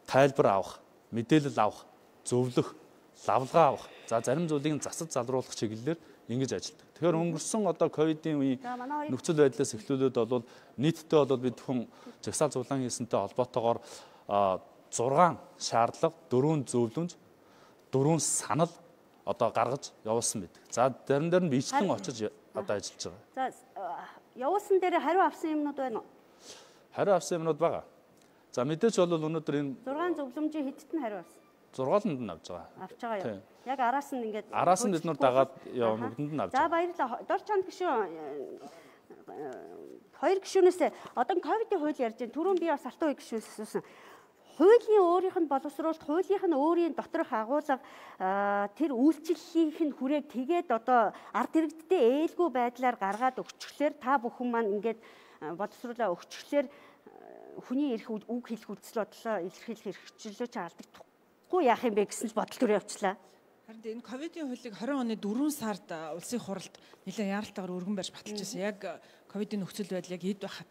тайлбар авах, мэдээлэл авах, зөвлөх, лавлгаа авах. За зарим зүйлийг засаж залруулах чиглэлээр ингэж ажилладаг. Тэгэхээр өнгөрсөн одоо ковидын үеийн нөхцөл байдлаас эхлүүлээд бол нийтдээ бол бид бүхэн жагсаал цуглаан хийсэнтэй холбоотойгоор six шаардлага, four зөвлөмж, four санал одоо гаргаж явуулсан байдаг. За зарим дээр нь бичлэн очиж одоо ажиллаж байгаа. За явуулсан дээр хариу авсан юмнууд байна уу? Хариу авсан юмнууд байгаа. За мэдээж бол өнөөдөр энэ зургаан зөвлөмжийн хэдт нь хариу авсан? зургааланд нь авч байгаа. Авч байгаа юу? Яг араас нь ингээд араас нь бид нар дагаад явна нүдэнд нь авч байгаа. За баярлалаа. Дор чанд гişүүн хоёр гişүүнээс одоо ковидын хууль ярьж байна. Түрүүн би бас алтан үе гişүүнээс асуусан. Хуулийн өөрийнх нь боловсруулалт, хуулийнх нь өөрийн доторх агуулга тэр үйлчлэлийнх нь хүрээг тэгээд одоо ард иргэдтэй ээлгүй байдлаар гаргаад өгчлөөр та бүхэн маань ингээд боловсруулаа өгчлөөр хүний эрх үг хэлэх үзэл бодлоо илэрхийлэх эрхчлөлөө ч алдагдахгүй яах юм бэ гэсэн л бодол төр явуулчлаа. Харин энэ ковидын хуулийг хорин оны дөрвөн сард улсын хуралд нэлээд яаралтайгаар өргөн барьж баталж байсан. Яг ковидын нөхцөл байдал яг эд байхад.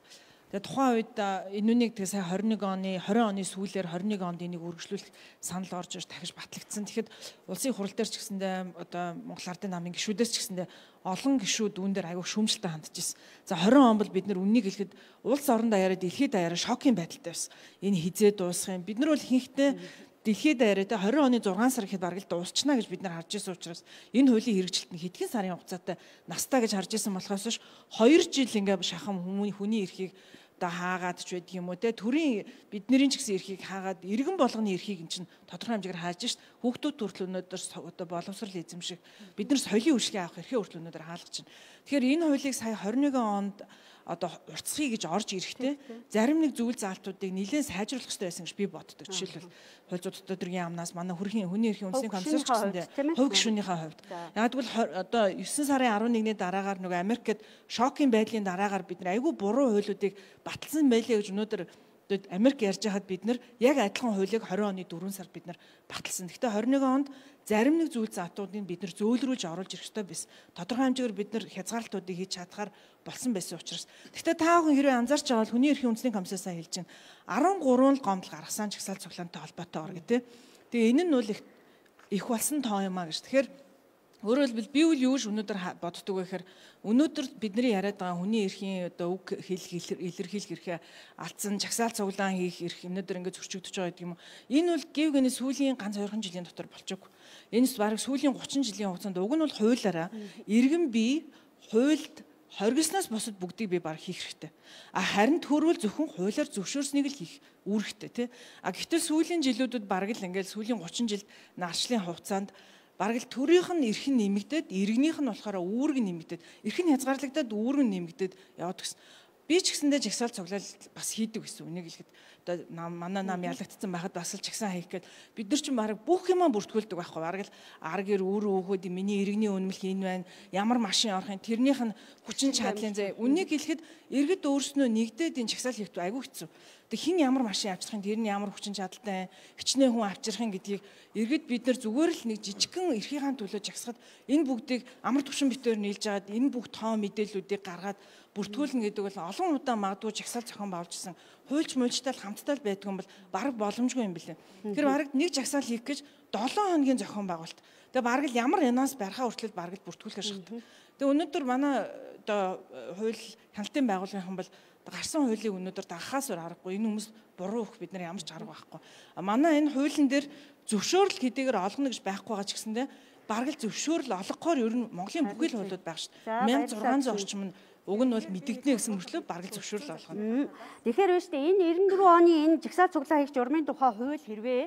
Тэгээ тухайн үед энэ үнийг тэгээ сая хорин нэг оны хорин оны сүүлээр хорин нэг онд энийг үргэлжлүүлэх санал орж ирж дахиж батлагдсан. Тэгэхэд улсын хурал дээр ч гэсэндээ одоо Монгол Ардын намын гишүүдээс ч гэсэндээ олон гишүүд үүн дээр аягүй шүүмжлэлтэй хандж ирсэн. За хорин он бол бид нар үннийг хэлэхэд улс орон даяараа дэлхийд даяараа шокийн байдалтай байсан. Энэ хизээ дуусах юм. Бид нар бол ихэнхдээ дэлхийд даяараа хорин оны зургаан сар гэхэд бараг л дуусчихна гэж бид нар харж ирсэн учраас энэ хуулийн хэрэгжилт нь хэдхэн сарын хугацаатай настаа гэж харж ирсэн болохоос ш хоёр жил ингээ шахам хүмүүний хүний эрхийг одоо хаагаад ч байдаг юм уу те төрийн бидний ч гэсэн эрхийг хаагаад иргэн болгоны эрхийг эн чинь тодорхой хэмжээгээр хааж шít хүүхдүүд хүртэл өнөөдөр одоо боловсрал эзэмших бид нар соёлын үйлчлэгээ авах эрхээ хүртэл өнөөдөр хаалгаж байна. Тэгэхээр энэ хуулийг сая хорин нэгэн онд одоо уртсхий гэж орж ирэхтэй зарим нэг зүйл заалтуудыг нэлээд сайжруулах хэрэгтэй байсан гэж би боддог. Жишээлбэл хууль зүйн төдөргийн амнаас манай хүрхийн хүний эрхийн үндэсний комиссар ч гэсэндээ хувь гишүүнийхээ хувьд яг тэгвэл одоо девэн сарын арван нэгний дараагаар нөгөө Америкт шокийн байдлын дараагаар бид нар айгүй буруу хуулиудыг баталсан байлээ гэж өнөөдөр Америк ярьж байхад бид нар яг адилхан хуулийг хорин оны дөрвөн сард бид нар баталсан. Гэхдээ хорин нэгэн онд зарим нэг зүйл заатуудыг бид нар зөөлрүүлж оруулж ирэх ёстой байсан. Тодорхой хэмжээгээр бид нар хязгаарлалтуудыг хийж чадхаар болсон байсан учраас. Гэхдээ та бүхэн хэрвээ анзаарч байгаа бол хүний эрхийн үндэсний комиссаасаа хэлж байна. арван гурван л гомдол гаргасан чагсаалт цуглаантай холбоотой ор гэдэг. Тэгээ энэ нь бол их их болсон тоо юм а гэж. Тэгэхээр өөрөөр хэлбэл би үл юу ч өнөөдөр боддог вэ гэхээр өнөөдөр бидний яриад байгаа хүний эрхийн одоо үг хэлэх илэрхийлэх эрхээ алдсан чагсаалт цуглаан хийх эрх өнөөдөр ингээд зөрчигдөж байгаа гэдэг юм уу. Энэ бол гів гэнэ сүүлийн ганц хоёрхан жилийн дотор болчихгүй. Энэ бараг сүүлийн гучин жилийн хугацаанд уг нь бол хуулиараа иргэн бие хуульд хоригсноос босод бүгдийг би баг хийх хэрэгтэй. А харин төрүүл зөвхөн хуулиар зөвшөөрснийг л хийх үүрэгтэй тий. А гэтэл сүүлийн жилүүдэд бараг л ингээд сүүлийн гучин жилд нарчлын хугацаанд бараг л төрийнх нь эрх нь нэмэгдээд иргэнийх нь болохоор үүрэг нь нэмэгдээд эрх нь хязгаарлагдаад үүрэг нь нэмэгдээд яваад гэсэн. Би ч гэсэндээ жагсаал цуглаал бас хийдэг гэсэн үнийг хэлэхэд одоо манай нам ялагдсан байхад бас л жагсаан хийх гээд бид нар ч бараг бүх юмаа бүртгүүлдэг байхгүй бараг л ар гэр үр өөхөд миний иргэний үнэмлэх энэ байна ямар машин орохын тэрнийх нь хүчин чадлын зэ үнийг хэлэхэд иргэд өөрснөө нэгдээд энэ жагсаал хийх айгүй хэцүү. Тэг хин ямар машин авчрахын тэр нь ямар хүчин чадалтай хичнээн хүн авчрахын гэдгийг иргэд бид нар зүгээр л нэг жижигхэн эрхийнхаа төлөө жагсахад энэ бүгдийг амар түвшин битээр нийлж агаад энэ бүх тоо мэдээллүүдийг гаргаад бүртгүүлнэ гэдэг бол олон удаа магадгүй жагсаал зохион байгуулжсэн хуульч муульчтай хамтдаа л байдгүй юм бол бараг боломжгүй юм билээ. Тэр бараг нэг жагсаал хийх гэж долоон хоногийн зохион байгуулалт. Тэгээ бараг л ямар янаас барихаа хүртэл бараг л бүртгүүлэхээр шахдаг. Тэгээ өнөөдөр манай одоо хууль хяналтын байгууллагын бол гарсан хуулийг өнөөдөр дагахаас өөр аргагүй. Энэ хүмүүс буруу өгөх бид нар ямар ч арга байхгүй. Манай энэ хуулийн дээр зөвшөөрөл хэдийгээр олгоно гэж байхгүй байгаа ч гэсэндээ бараг л зөвшөөрөл олгохоор ер нь Монголын бүхий л хуулиуд байх шүү дээ. мянга зургаан зуун орчим нь уг нь бол мэдэгдэнэ гэсэн мөрчлөө бараг л зөвшөөрөл олгоно. Тэгэхээр байна шүү дээ. Энэ девэн дөрвөн оны энэ жагсаал цуглаа хийх журмын тухай хууль хэрвээ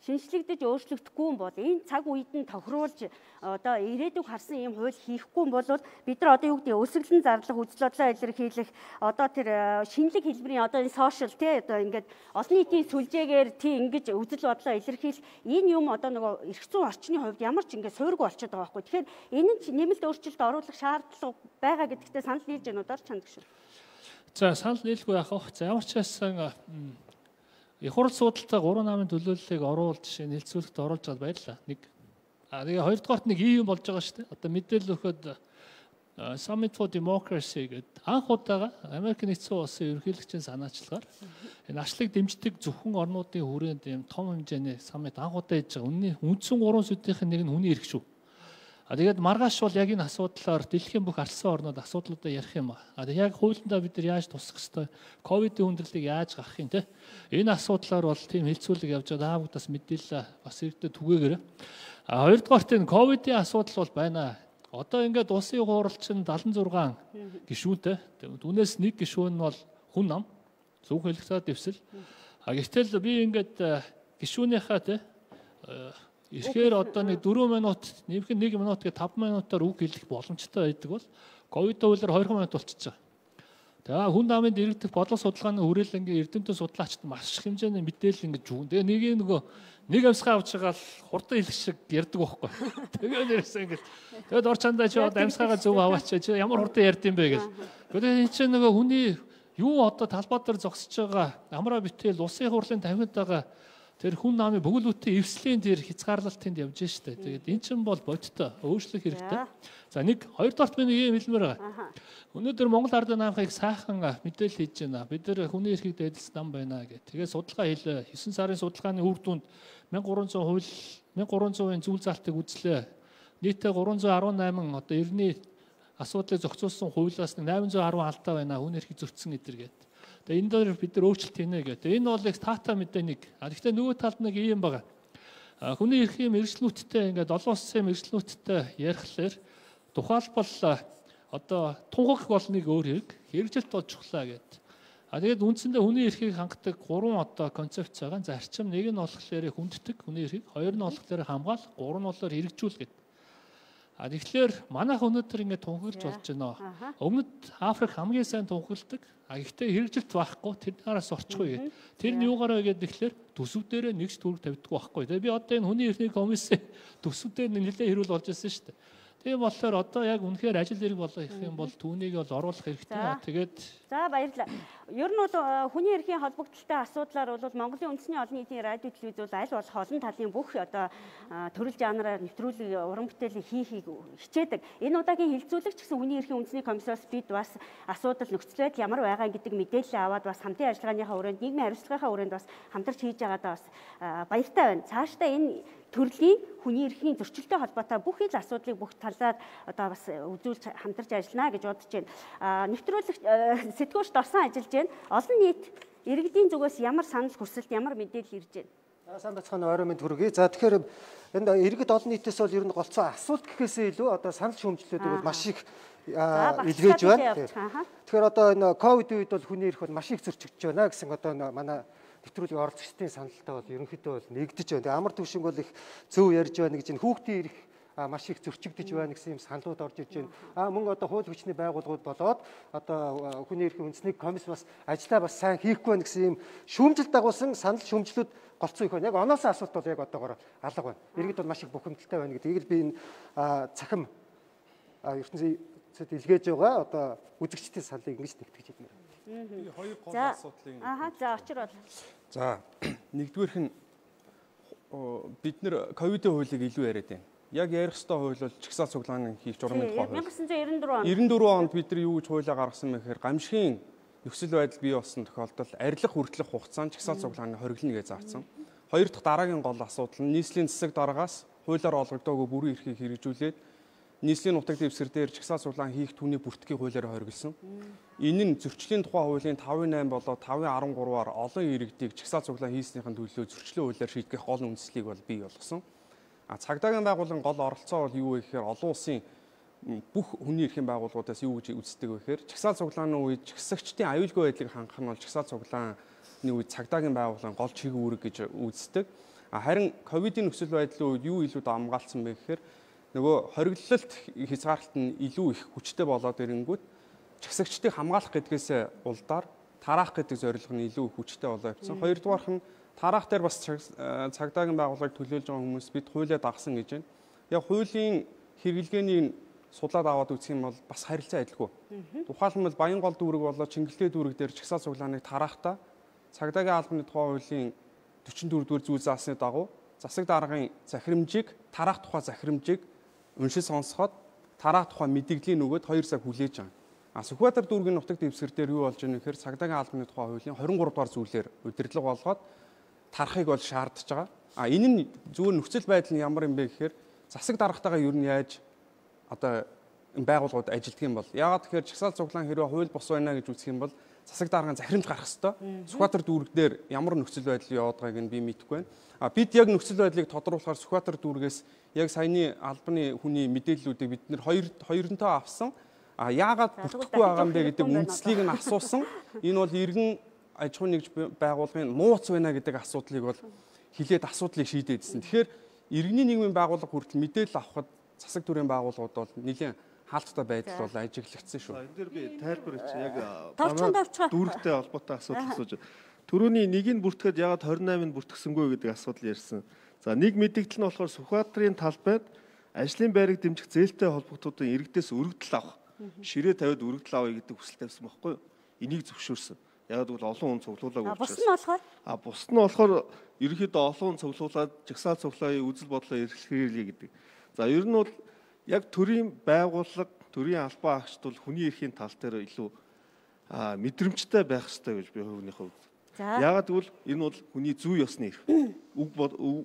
шинжлэгдэж өөрчлөгдөхгүй юм бол энэ цаг үед нь тохируулж одоо ирээдүйг харсан юм хууль хийхгүй юм бол бид нар одоо юу гэдэг өсөглөн зарлах үзэл бодлоо илэрхийлэх одоо тэр шинэлэг хэлбэрийн одоо энэ сошиал тий одоо ингээд олон нийтийн сүлжээгээр тий ингэж үзэл бодлоо илэрхийлэх энэ юм одоо нөгөө эрх зүйн орчны хувьд ямар ч ингээд суурьгүй болчиход байгаа байхгүй. Тэгэхээр энэ нь нэмэлт өөрчлөлт оруулах шаардлага байгаа гэдэгтээ санал нийлж байна уу дор чанд гэж. За санал нийлгүй яах вэ? За ямар ч байсан их хурл суудалтай гурван намын төлөөллийг оруулж жишээ нь хэлцүүлэхэд оруулж байгаа байлаа. Нэг а тэгээ хоёрдугаарт нэг ийм болж байгаа шүү дээ. Одоо мэдээлэл өгөхөд Summit for Democracy гэдэг анх удаага Америк нэгдсэн улсын ерөнхийлөгчийн санаачлагаар энэ ачлыг дэмждэг зөвхөн орнуудын хүрээнд ийм том хэмжээний саммит анх удаа хийж байгаа. Үнний үндсэн гурван сэдвийн нэг нь хүний эрх шүү. А тэгээд маргааш бол яг энэ асуудлаар дэлхийн бүх ардсан орнууд асуудлуудаа ярих юм а. А тэгээд яг хуулиндаа бид нар яаж тусах ёстой, ковидын хүндрэлийг яаж гаргах юм те. Энэ асуудлаар бол тийм хилцүүлэг явж байгаа даавуудаас мэдээлэл бас ирдэ түгээгээрэй. А хоёрдугаарт энэ ковидын асуудал бол байна. Одоо ингээд улсын хуурал чинь дагалан зургаан гишүүнтэй. Түүнээс нэг гишүүн нь бол хүн ам, зөв хэлэхцээ дэвсэл. А гэтэл би ингээд гишүүнийхээ те ихээр одоо нэг дөрвөн минут, нэмэх нэг минут гэ таван минутаар үг хэлэх боломжтой байдаг бол ковид хуулиар хоёр минут болчихж байгаа. Тэгээ хүн амын дэрэгдэх бодлого судалгааны хүрээлэнгийн эрдэмтэн судлаачид маш их хэмжээний мэдээлэл ингэж өгөн. Тэгээ нэг нөгөө нэг амьсгаа авч байгаа л хурдан хэлэх шиг ярьдаг байхгүй. Тэгээ нэрсэн ингэж. Тэгээд ор чандаа чи одоо амьсгаагаа зөв аваач чи ямар хурдан ярьд юм бэ гэж. Тэгээд энэ чинь нөгөө хүний юу одоо талбай дээр зогсож байгаа амраа битэл улсын хурлын тавиад байгаа тэр хүн намын бөглүүтийн эвслийн тэр хязгаарлалтанд явж штэ. Тэгээд эн чинь бол бодтой өөрчлөх хэрэгтэй. За нэг хоёрдугаарт би нэг юм хэлмээр байгаа. Өнөөдөр Монгол Ардын намхыг сайхан мэдээлэл хийж байна. Бид нар хүний эрхийг дээдэлсэн нам байна гэх. Тэгээд судалгаа хийлээ. хэсэг сарын судалгааны үр дүнд мянга гурван зуун хууль мянга гурван зуун зүйл залтыг үзлээ. Нийтдээ гурван зуун арван найман одоо эртний асуудлыг зохицуулсан хуулиас найман зуун арван алдаа байна. Хүн эрхийг зөрчсөн гэдэр гээд. Тэгээ энэ дээр бид нар өөрчлөлт хийнэ гэдэг. Энэ бол их тата мэдээ нэг. А гэхдээ нөгөө талд нэг юм байгаа. Хүний эрхийн мэргэжлүүдтэй ингээд олон улсын мэргэжлүүдтэй ярихлаар тухайлбал одоо тунхаг бол нэг өөр хэрэг, хэрэгжилт бол чухлаа гэдэг. А тэгээд үндсэндээ хүний эрхийг хангадаг гурван одоо концепц байгаа. Зарчим нэг нь болохоор хүнддэг хүний эрхийг, хоёр нь болохоор хамгаалах, гурав нь болохоор хэрэгжүүл гэдэг. А тэгэхээр манайх өнөөдөр ингээд тунхаглаж болж байна. Өмнөд Африк хамгийн сайн тунхагладаг. А гэхдээ хэрэгжилт байхгүй тэр нараас орчихгүй гэдэг. Тэр нь юугаараа гэдэг тэгэхээр төсөв дээрээ нэгж төгрөг тавьдаг байхгүй. Тэгээ би одоо энэ хүний эрхний комиссын төсөв дээр нэлээд хэрүүл болж байсан шүү дээ. Тийм болохоор одоо яг үнэхээр ажил хэрэг болох юм бол түүнийг бол оруулах хэрэгтэй. Тэгээд за баярлалаа. Ер нь бол хүний эрхийн холбогдлолтой асуудлаар бол Монголын үндэсний олон нийтийн радио телевиз бол аль болох олон талын бүх одоо төрөл жанраар нэвтрүүлэг уран бүтээлийг хийхийг хичээдэг. Энэ удаагийн хилцүүлэгч гэсэн хүний эрхийн үндэсний комиссоос бид бас асуудал нөхцөл байдал ямар байгаа гэдэг мэдээлэл аваад бас хамтын ажиллагааныхаа хүрээнд нийгмийн хариуцлагынхаа хүрээнд бас хамтарч хийж байгаадаа бас баяртай байна. Цаашдаа энэ төрлийн хүний эрхийн зөрчилтэй холбоотой бүх ил асуудлыг бүх талаар одоо бас үзүүлж хамтарч ажиллана гэж бодож байна. Нэвтрүүлэг сэтгүүлч дорсон ажиллаж байна. Олон нийт иргэдийн зүгээс ямар санал хүсэлт, ямар мэдээлэл ирж байна? Сайн бацхан орой мэнд хүргэе. За тэгэхээр энд иргэд олон нийтээс бол ер нь голцоо асуулт гэхээсээ илүү одоо санал шүүмжлэлүүд бол маш их илгээж байна. Тэгэхээр одоо энэ ковид үед бол хүний эрх бол маш их зөрчигдөж байна гэсэн одоо манай нэвтрүүлгийн оролцогчдын саналтай бол ерөнхийдөө бол нэгдэж байна. Тэгээ амар төвшинг бол их зөв ярьж байна гэж энэ хүүхдийн эрх маш их зөрчигдөж байна гэсэн юм саналууд орж иж байна. А мөн одоо хууль хүчний байгууллагууд болоод одоо хүний эрхийн үндэсний комисс бас ажиллаа бас сайн хийхгүй байна гэсэн юм шүүмжил дагуулсан санал шүүмжлүүд голцоо их байна. Яг оноосоо асуулт бол яг одоогоор алга байна. Иргэд бол маш их бухимдалтай байна гэдэг. Эгийг би энэ цахим ертөнцид илгээж байгаа одоо үзэгчдийн саналыг ингэж нэгтгэж байна. Би хоёр гол асуудлын Аа за очир бол. За нэгдүгээрх нь бид нэр ковидын хуулийг илүү яриад байна. Яг ярих ёстой хууль бол чагсаал цуглааны хийх журмын тухай хууль. 천구백구십사 онд. девяносто четыре онд бид нар юу гэж хуулиа гаргасан бэ гэхээр гамшигын нөхцөл байдал бий болсон тохиолдолд арилах хүртэлх хугацаанд чагсаал цуглааны хориглоно гэж заасан. Хоёр дахь дараагийн гол асуудал нь нийслэлийн засаг дараагаас хуулиар олгогдоогүй бүрэн эрхийг хэрэгжүүлээд нийслэлийн нутаг дэвсгэр дээр чагсаал цуглаан хийх түүний бүртгэхийн хуулиараа хориглосон. Энэ нь зөрчлийн тухай хуулийн тавын восемь болоод тавын арван гурваар олон иргэдийг чагсаал цуглаан хийснийхэн төлөө зөрчлийн хуулиар шийдэх гол үндслийг бол бий болгосон. А цагдаагийн байгууллагын гол оролцоо бол юу вэ гэхээр олон улсын бүх хүний эрхийн байгууллагуудаас юу гэж үздэг вэ гэхээр чагсаал цуглааны үед чагсагчдын аюулгүй байдлыг хангах нь бол чагсаал цуглааны үед цагдаагийн байгууллагын гол чиг үүрэг гэж үздэг. А харин ковидын нөхцөл байдлын үед юу илүү дамгаалцсан бэ гэхээр нөгөө хориглолт хязгаарлалт нь илүү их хүчтэй болоод ирэнгүүт чагсагчдыг хамгаалах гэдгээс улдаар тараах гэдэг зорилго нь илүү хүчтэй болоо явцсан. Хоёрдугаарх нь тараах дээр бас цагдаагийн байгууллагыг төлөөлж байгаа хүмүүс бид хуулиа дагсан гэж байна. Яг хуулийн хэрэглгээний судлаад аваад үзэх юм бол бас харилцаа адилгүй. Тухайлбал Баянгол дүүрэг болоо Чингэлтэй дүүрэг дээр чагсаал цуглааныг тараахтаа цагдаагийн албаны тухай хуулийн дөрвөн дөрвөн зүйл заасны дагуу засаг даргын захирамжийг тараах тухай захирамжийг уншиж сонсоход тараах тухай мэдээллийн нөгөөд хоёр цаг хүлээж байгаа. А Сүхбаатар дүүргийн нутаг дэвсгэр дээр юу болж байгаа нөхөр цагдаагийн албаны тухай хуулийн двадцать три дугаар зүйлээр удирдлага болгоод тарахыг бол шаардж байгаа. А энэ нь зүгээр нөхцөл байдал нь ямар юм бэ гэхээр засаг даргатайгаа юу нь яаж одоо энэ байгууллагууд ажилтдаг юм бол яагаад тэгэхээр жагсаал цуглаан хэрвээ хууль бус байна гэж үзэх юм бол засаг дарганы захирамж гарах ёстой. Сүхбаатар дүүрэг дээр ямар нөхцөл байдал яваад байгааг нь би мэдэхгүй байна. А бид яг нөхцөл байдлыг тодруулахаар Сүхбаатар дүүргээс яг саяны албаны хүний мэдээллүүдийг бид нэр хоёр хоёронтой авсан. А яагаад бүртгэхгүй байгаа юм бэ гэдэг үндслийг нь асуусан. Энэ бол иргэн аж ахуйн нэгж байгууллагын нууц байна гэдэг асуудлыг бол хилээд асуудлыг шийдээдсэн. Тэгэхээр иргэний нийгмийн байгууллага хүртэл мэдээлэл авахд засаг төрийн байгууллагууд бол нэлээд хаалттай байдал бол ажиглагдсан шүү. Энэ дээр би тайлбар хийчих яг дүүрэгтэй холбоотой асуудал асууж. Төрөний нэгийг бүртгэхэд ягаад двадцать восемь-ыг бүртгэсэнгүй гэдэг асуудал ярьсан. За нэг мэдээлэл нь болохоор Сүхбаатарын талбайд ажлын байрыг дэмжих зээлтэй холбогдуудын иргэдээс өргөдөл авах, ширээ тавиад өргөдөл авъя гэдэг хүсэл тавьсан байхгүй юу? Энийг зөвшөөрсөн. Яг л олон хүн цуглуулаагүй учраас. Бус нь болохоор а бус нь болохоор ерөнхийдөө олон хүн цуглуулад жагсаал цуглааны үзэл бодлоо эрхлүүлье гэдэг. За ер нь бол яг төрийн байгууллага, төрийн албан агчд бол хүний эрхийн тал дээр илүү мэдрэмжтэй байх ёстой гэж би хувийн хувьд. Яагаад гэвэл энэ бол хүний зүй ёсны эрх. Үг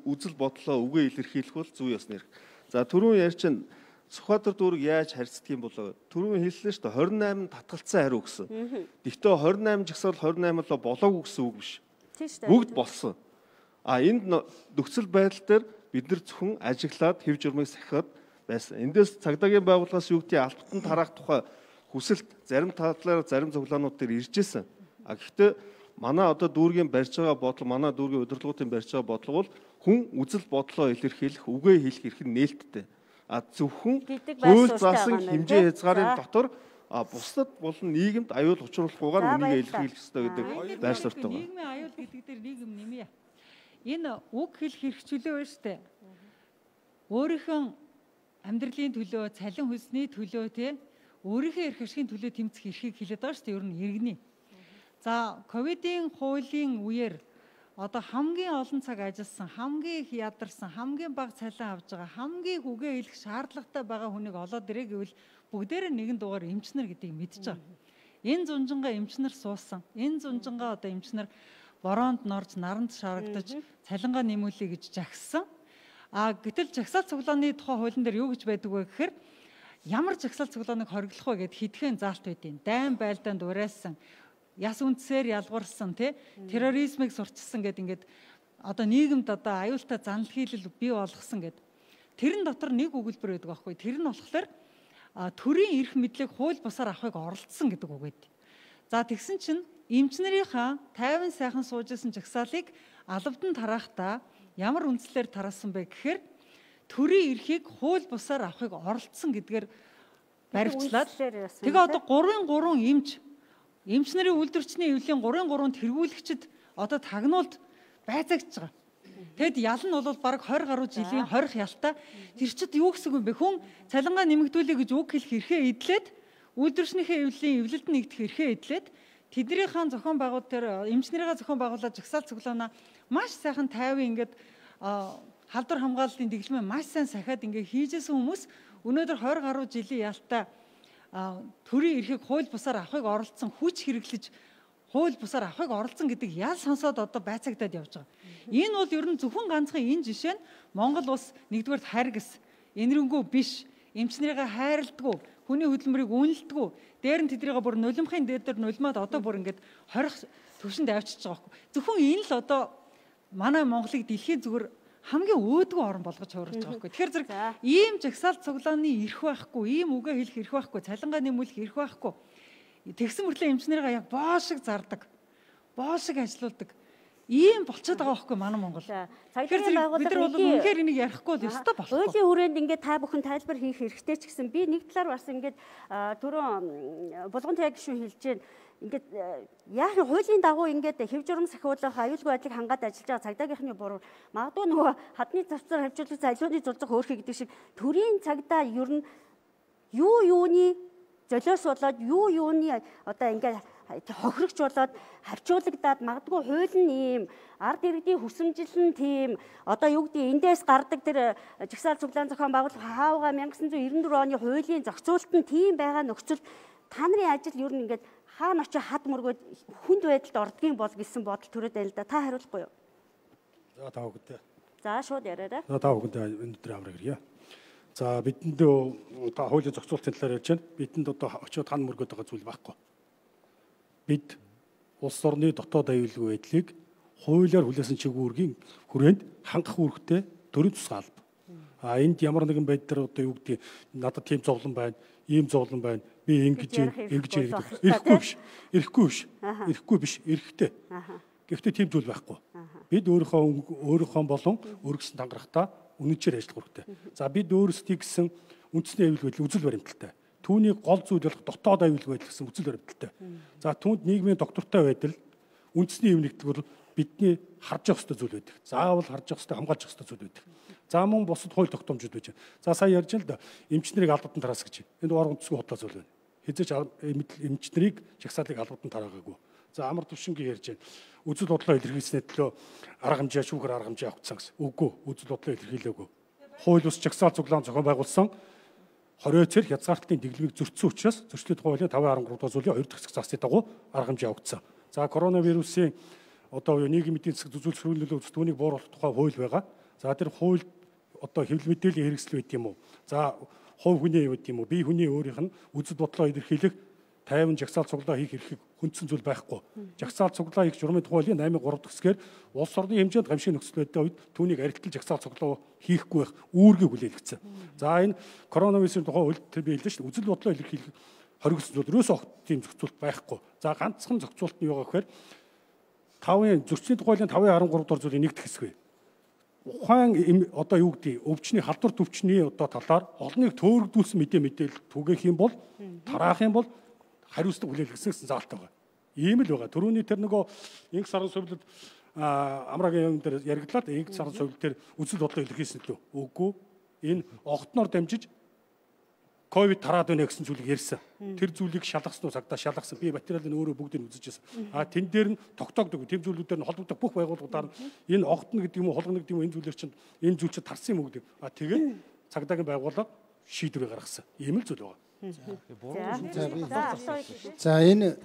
үзэл бодлоо үгээ илэрхийлэх бол зүй ёсны эрх. За түрүүн ярьчин Сүхбаатар дүүрэг яаж харьцдаг юм болоо? Түрүүн хэллээ шүү дээ двадцать восемь татгалцсан хариу гэсэн. Гэхдээ двадцать восемь жагсаал двадцать восемь л болоогүй гэсэн үг биш. Бүгд болсон. А энд нөхцөл байдал дээр бид нар зөвхөн ажиглаад хэв журмыг сахиад байсан. Эндээс цагдаагийн байгууллагаас юу гэдгийг алтан тараах тухай хүсэлт зарим талаар зарим цуглаанууд дээр ирж байсан. А гэхдээ манай одоо дүүргийн барьж байгаа бодлого, манай дүүргийн удирдлагуудын барьж байгаа бодлого бол хүн үзэл бодлоо илэрхийлэх, үгээ хэлэх эрх нь нээлттэй. А зөвхөн хууль заасан хэмжээ хязгаарын дотор а бусдад болон нийгэмд аюул учруулахгүйгээр үнийг илэрхийлэх ёстой гэдэг байр суурьтай байна. Нийгмийн аюул гэдэг дээр нийгэм нэмье. Энэ үг хэлэх хэрэгчлөө байна шүү дээ. Өөрийнхөө амьдралын төлөө, цалин хөлсний төлөө те өөрийнхөө эрх ашигын төлөө тэмцэх эрхийг хэлээд байгаа шүү дээ. Ер нь иргэний. За ковидын хуулийн үеэр одоо хамгийн олон цаг ажилласан, хамгийн их ядарсан, хамгийн бага цалин авж байгаа, хамгийн үгээ хэлэх шаардлагатай байгаа хүнийг олоод ирээ гэвэл бүгдээрээ нэгэн дугаар эмчнэр гэдгийг мэдж байгаа. Энэ зунжингаа эмчнэр суусан. Энэ зунжингаа одоо эмчнэр бороонд норж, наранд шарагдаж, цалингаа нэмүүлэе гэж жагссан. А гэтэл жагсаал цуглааны тухай хуулийн дээр юу гэж байдаг вэ гэхээр ямар жагсаал цуглааныг хориглох вэ гэд хэдхэн заалт байдیں۔ Дайн байлдаанд уриалсан, яс үндсээр ялгуурсан, тэ терроризмыг сурчсан гэд ингээд одоо нийгэмд одоо аюултай занал хийлэл бий болгосон гэд. Тэрэн дотор нэг өгүүлбэр байдаг аахгүй. Тэр нь болохоор төрийн эрх мэдлийг хууль бусаар авахыг оролцсон гэдэг үг байд. За тэгсэн чинь эмчнэрийнхаа тайван сайхан суужсэн жагсаалыг албадан тарахдаа ямар үндслээр тараасан бэ гэхээр төрийн эрхийг хууль бусаар авахыг оролцсон гэдгээр баримтлаад тэгээ одоо гурван гурван эмч эмч нарын үйлдвэрчний эвлийн гурван гурван тэргүүлэгчд одоо тагнуулд байцаагч байгаа. Тэгэд ял нь бол бараг двадцать гаруй жилийн хорих ялтай. Тэр чид юу гэсэн юм бэ? Хүн цалингаа нэмэгдүүлэе гэж үг хэлэх эрхээ эдлээд үйлдвэрчнийхээ эвлийн эвлэлд нэгдэх эрхээ эдлээд тэднийхээ зохион байгуул дээр эмч нарыгаа зохион байгуулаад жагсаал цуглаанаа маш сайхан тайван ингээд халдвар хамгааллын дэглэмээ маш сайн сахиад ингээд хийжсэн хүмүүс өнөөдөр двадцать гаруй жилийн ялтай төрийн эрхийг хууль бусаар авахыг оролцсон, хүч хэрэглэж хууль бусаар авахыг оролцсон гэдэг ял сонсоод одоо байцаагдаад явж байгаа. Энэ бол ер нь зөвхөн ганцхан энэ жишээ нь Монгол улс нэгдүгээр харгас, энэрэнгүй биш, эмч нарыгаа хайрладгүй, хүний хөдөлмөрийг үнэлдэггүй, дээр нь тэднийгээ бүр нулимхын дээр дээр нулимаад одоо бүр ингээд хорих төвшөнд авчиж байгаа байхгүй. Зөвхөн энэ л одоо манай Монголыг дэлхийн зүгээр хамгийн өөдгөө орн болгож хуурж байгаа байхгүй. Тэгэхээр зэрэг ийм жагсаал цуглааны эрх байхгүй, ийм үгээ хэлэх эрх байхгүй, цалингаа нэмүүлэх эрх байхгүй. Тэгсэн мөртлөө эмч нарыгаа яг боо шиг зардаг, боо шиг ажилуулдаг. Ийм болчиход байгаа байхгүй манай Монгол. Тэгэхээр бид нар бол үнэхээр энийг ярихгүй л ёстой болохгүй. Хуулийн хүрээнд ингээд та бүхэн тайлбар хийх хэрэгтэй ч гэсэн би нэг талаар бас ингээд түрүүн булган таяг гişүн хэлж байна. Ингээд яг хуулийн дагуу ингээд хэв журам сахиулах аюулгүй байдлыг хангаад ажиллаж байгаа цагдаагийнхны буруу магадгүй нөгөө хадны завцаар хавьжуулах залууны зулцах хөөрхий гэдэг шиг төрийн цагдаа ер нь юу юуны золиос болоод юу юуны одоо ингээд хохирогч болоод хавчуулагдаад магадгүй хууль нь ийм ард иргэдийн хүсэмжил нь тийм одоо юу гэдэг эндээс гардаг тэр жагсаал цуглаан зохион байгуулалт хаавга 천구၉九оны хуулийн зохицуулалт нь тийм байгаа нөхцөл та нарын ажил ер нь ингээд хаана очиж хад мөргөөд хүнд байдалд ордгийн бол гэсэн бодол төрөөд байл да. Та хариулахгүй юу? За таа бүгдээ. За шууд яриарай. За таа бүгдээ өнөөдөр авраг ирье. За бидэнд одоо хуулийн зохицуулалтын талаар ярьж байна. Бидэнд одоо очиод хан мөргөд байгаа зүйл байхгүй. Бид улс орны дотоод аюулгүй байдлыг хуулиар хүлээсэн чиглэлгийн хүрээнд хангах үүрэгтэй төрийн тусгай алба. А энд ямар нэгэн байдлаар одоо юу гэдэг надад тийм зовлон байна, ийм зовлон байна. Би ингэж ингэж яриад ирэхгүй биш. Ирэхгүй биш. Ирэхгүй биш. Ирэхтэй. Гэхдээ тийм зүйл байхгүй. Бид өөрийнхөө өөрийнхөө болон өргөсөн тангарахтаа үнэнчээр ажиллах хэрэгтэй. За бид өөрсдий гэсэн үндэсний аюулгүй байдал үзэл баримталтай. Түүний гол зүйл болох дотоод аюулгүй байдал гэсэн үзэл баримталтай. За түүнд нийгмийн доктортой байдал үндэсний юм нэгдэг бол бидний харж явах ёстой зүйл байдаг. Заавал харж явах ёстой, хамгаалж явах ёстой зүйл байдаг. За мөн бусад хууль тогтоомжууд байж байна. За сая ярьж л да эмчнэрийг албадан тараас гэж. Энд орон үндэсгүй худлаа зүйл байна. Хэзээч эмчнэрийг жагсаалыг албадан тараагаагүй. За амар төвшингийн ярьж байна. Үзэл бодлоо илэрхийлснээр төлөө арга хэмжээ шүүхэр арга хэмжээ авчихсан гэсэн. Үгүй, үзэл бодлоо илэрхийлээгүй. Хууль ус жагсаал цуглаан зохион байгуулсан хорой цэр хязгаарталтын дэглэмийг зөрчсөн учраас зөрчлийн тухай хуулийн таван харангуй дахь зүйлийн хоёр дахь хэсэг засгийн дагуу арга хэмжээ авагдсан. За коронавирусын одоо нийгмийн эдийн засаг зүзүүлэх сөргөөлөлөө үзэх түүнийг бууруулах тухай хууль байгаа. За тэр хууль одоо хэвлэл мэдээллийн хэрэгсэл байт юм уу? За хувь хүний байт юм уу? Бие хүний өөрийнх нь үзэл бодлоо илэрхийлэх тайван жагсаал цуглаа хийх эрхийг хүндсэн зүйл байхгүй. Жагсаал цуглаа хийх журмын тухай хуулийн наймын гурав дахь хэсгээр улс орны хэмжээнд гамшиг нөхцөл байдалтай үед түүнийг арилтал жагсаал цуглаа хийхгүй байх үүргийг хүлээлгэсэн. За энэ коронавирусын тухай хууль тэр би хэллээ шүү дээ. Үзэл бодлоо илэрхийлэх хоригдсон зүйл ерөөсөө тийм зохицуулт байхгүй. За ганцхан зохицуулт нь юу гэхээр тавын зөрчлийн тухай хуулийн таван харангуй дахь зүйлийн нэг дэх хэсэг бай. Ухаан одоо юу гэдэг өвчний халдвар төвчний одоо талаар олныг төөрөгдүүлсэн мэдээ мэдээлэл түгээх юм бол тараах юм бол хариуцлага хүлээлгэсэн гэсэн заалт байгаа. Ийм л байгаа. Төрөүний тэр нөгөө инх сарын сувилд амрагийн юм дээр яригдлаад инх сарын сувилд дээр үзэл бодлоо илэрхийлсэн лөө. Үгүй. Энэ огтноор дамжиж ковид тараад байна гэсэн зүйлийг ярьсан. Тэр зүйлийг шалгасан уу цагдаа шалгасан. Би материалын өөрөө бүгдийг үзэж байсан. А тэн дээр нь тогтоогдог. Тэм зүйлүүдээр нь холбогдох бүх байгууллагуудаар энэ огтно гэдэг юм уу, холгоно гэдэг юм уу энэ зүйлэр чинь энэ зүйл чинь тарсан юм уу гэдэг. А тэгээд цагдаагийн байгууллага шийдвэрээ гаргасан. Ийм л зүйл байгаа. За энэ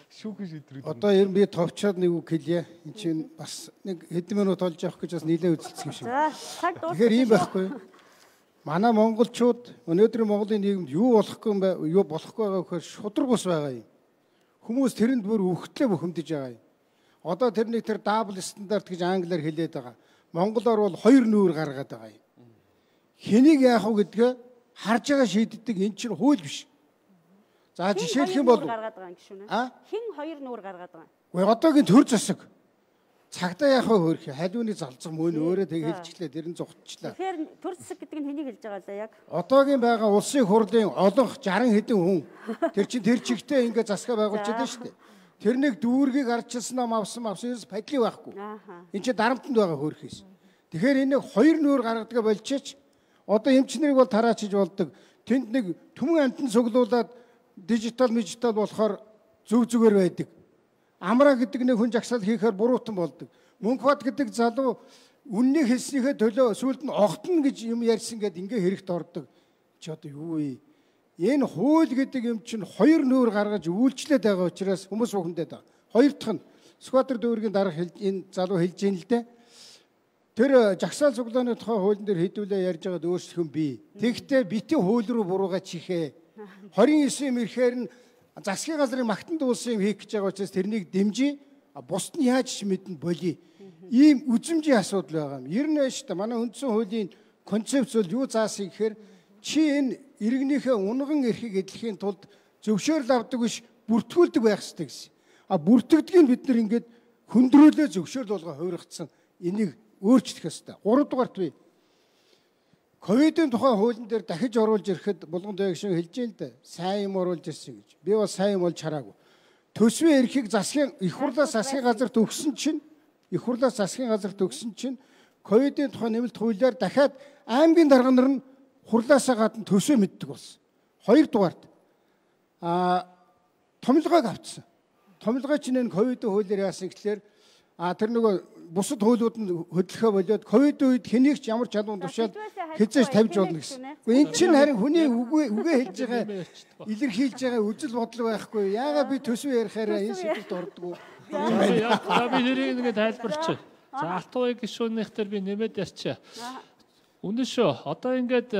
шүүхэн шийдвэр. Одоо ер нь би товчоод нэг үг хэлье. Энд чинь бас нэг хэдэн минут олж явах гэж бас нэлээд үзэлцэх юм шиг. За цаг дуусах. Тэгэхээр ийм байхгүй. Манай монголчууд өнөөдрийн Монголын нийгэмд юу болохгүй юм бэ? Юу болохгүй байгаа гэхээр шудраг ус байгаа юм. Хүмүүс тэрэнд бүр өвхтлээ бухимдаж байгаа юм. Одоо тэрний тэр дабл стандарт гэж англиар хэлээд байгаа. Монголоор бол хоёр нүүр гаргаад байгаа юм. Хэнийг яах вэ гэдгээ харж байгаа шийддэг эн чинь хууль биш. За жишээлх юм бол гаргаад байгаа юм гişүнэ. Хин хоёр нүүр гаргаад байгаа. Гэхдээ одоогийн төр засаг цагдаа яах вэ хөөх халиуны залзах мөн өөрөө тэг хэлчихлээ дэрэн зогтчлаа. Тэгэхээр төр засаг гэдэг нь хэнийг хэлж байгаа лээ яг? Одоогийн байгаа улсын хурлын олонх жаран хэдэн хүн тэр чинь тэр чигтээ ингээ засгаа байгуулж байгаа шүү дээ. Тэрнийг дүүргийг арчилсан ном авсан авсан ерөөс падлий байхгүй. Энд чинь дарамтанд байгаа хөөхөөс. Тэгэхээр энийг хоёр нүүр гаргадаг болчихч одоо эмчнэрийг бол тараачиж болдог. Тэнд нэг түмэн амтан цуглуулад дижитал мижитал болохоор зөв зүгээр байдаг. Амраа гэдэг нэг хүн жагсаал хийхээр буруутан болдог. Мөнхбат гэдэг залуу үннийг хэлснийхээ төлөө сүүлд нь огтно гэж юм ярьсан гэд ингээ хэрэгт ордог. Чи одоо юу вэ? Энэ хууль гэдэг юм чинь хоёр нүүр гаргаж үйлчлээд байгаа учраас хүмүүс бухимдаад байгаа. Хоёр дахь нь Скватер дүүргийн дарга энэ залуу хэлж ийн л дээ. Тэр жагсаал цуглааны тухай хуулийн дээр хэдүүлээ ярьж байгаад өөрсдөх юм бий. Тэгэхдээ битэн хууль руу бурууга чихээ. двадцать девять юм ирэхээр нь засгийн газрын магтанд уулсан юм хийх гэж байгаа учраас тэрнийг дэмжиж бусд нь яаж ч мэднэ болий. Ийм үзмжийн асуудал байгаа юм. Ер нь шүү дээ манай үндсэн хуулийн концепц бол юу заасан гэхээр чи энэ иргэнийхээ унган эрхийг эдлэхийн тулд зөвшөөрөл авдаг биш бүртгүүлдэг байх хэрэгтэй гэсэн. А бүртгэдгийг бид нар ингээд хөндрөөлөө зөвшөөрөл болгоо хувиргацсан. Энийг өөрчлөх ёстой. гурав дугаарт бий. Ковидын тухай хуулийн дээр дахиж оруулж ирэхэд булган дээгшин хэлж юм л да. Сайн юм оруулж ирсэн гэж. Би бол сайн юм болж хараагүй. Төсвийн эрхийг засгийн их хурлаас засгийн газарт өгсөн чинь их хурлаас засгийн газарт өгсөн чинь ковидын тухай нэмэлт хуулиар дахиад аймгийн дарга нар нь хурлаасаа гадна төсөө мэддэг болсон. Хоёр дугаарт а томилгоог авцсан. Томилгоо чинь энэ ковидын хуулиар яасан гэхэлэр а тэр нөгөө бусад хуулиуд нь хөдлөхөө болоод ковид үед хэнийг ч ямар ч чадвар тушаад хязгаарч тавьж болно гэсэн. Гэхдээ эн чинь харин хүний үгээ үгээ хэлж байгаа илэрхийлж байгаа үжил бодол байхгүй. Яагаад би төсвөө ярихаараа энэ шийдэлд ордгоо. За би нэрийг ингэ тайлбарч. За Алтуй гишүүнийх дээр би нэмээд ярьчаа. Үнэн шүү. Одоо ингээд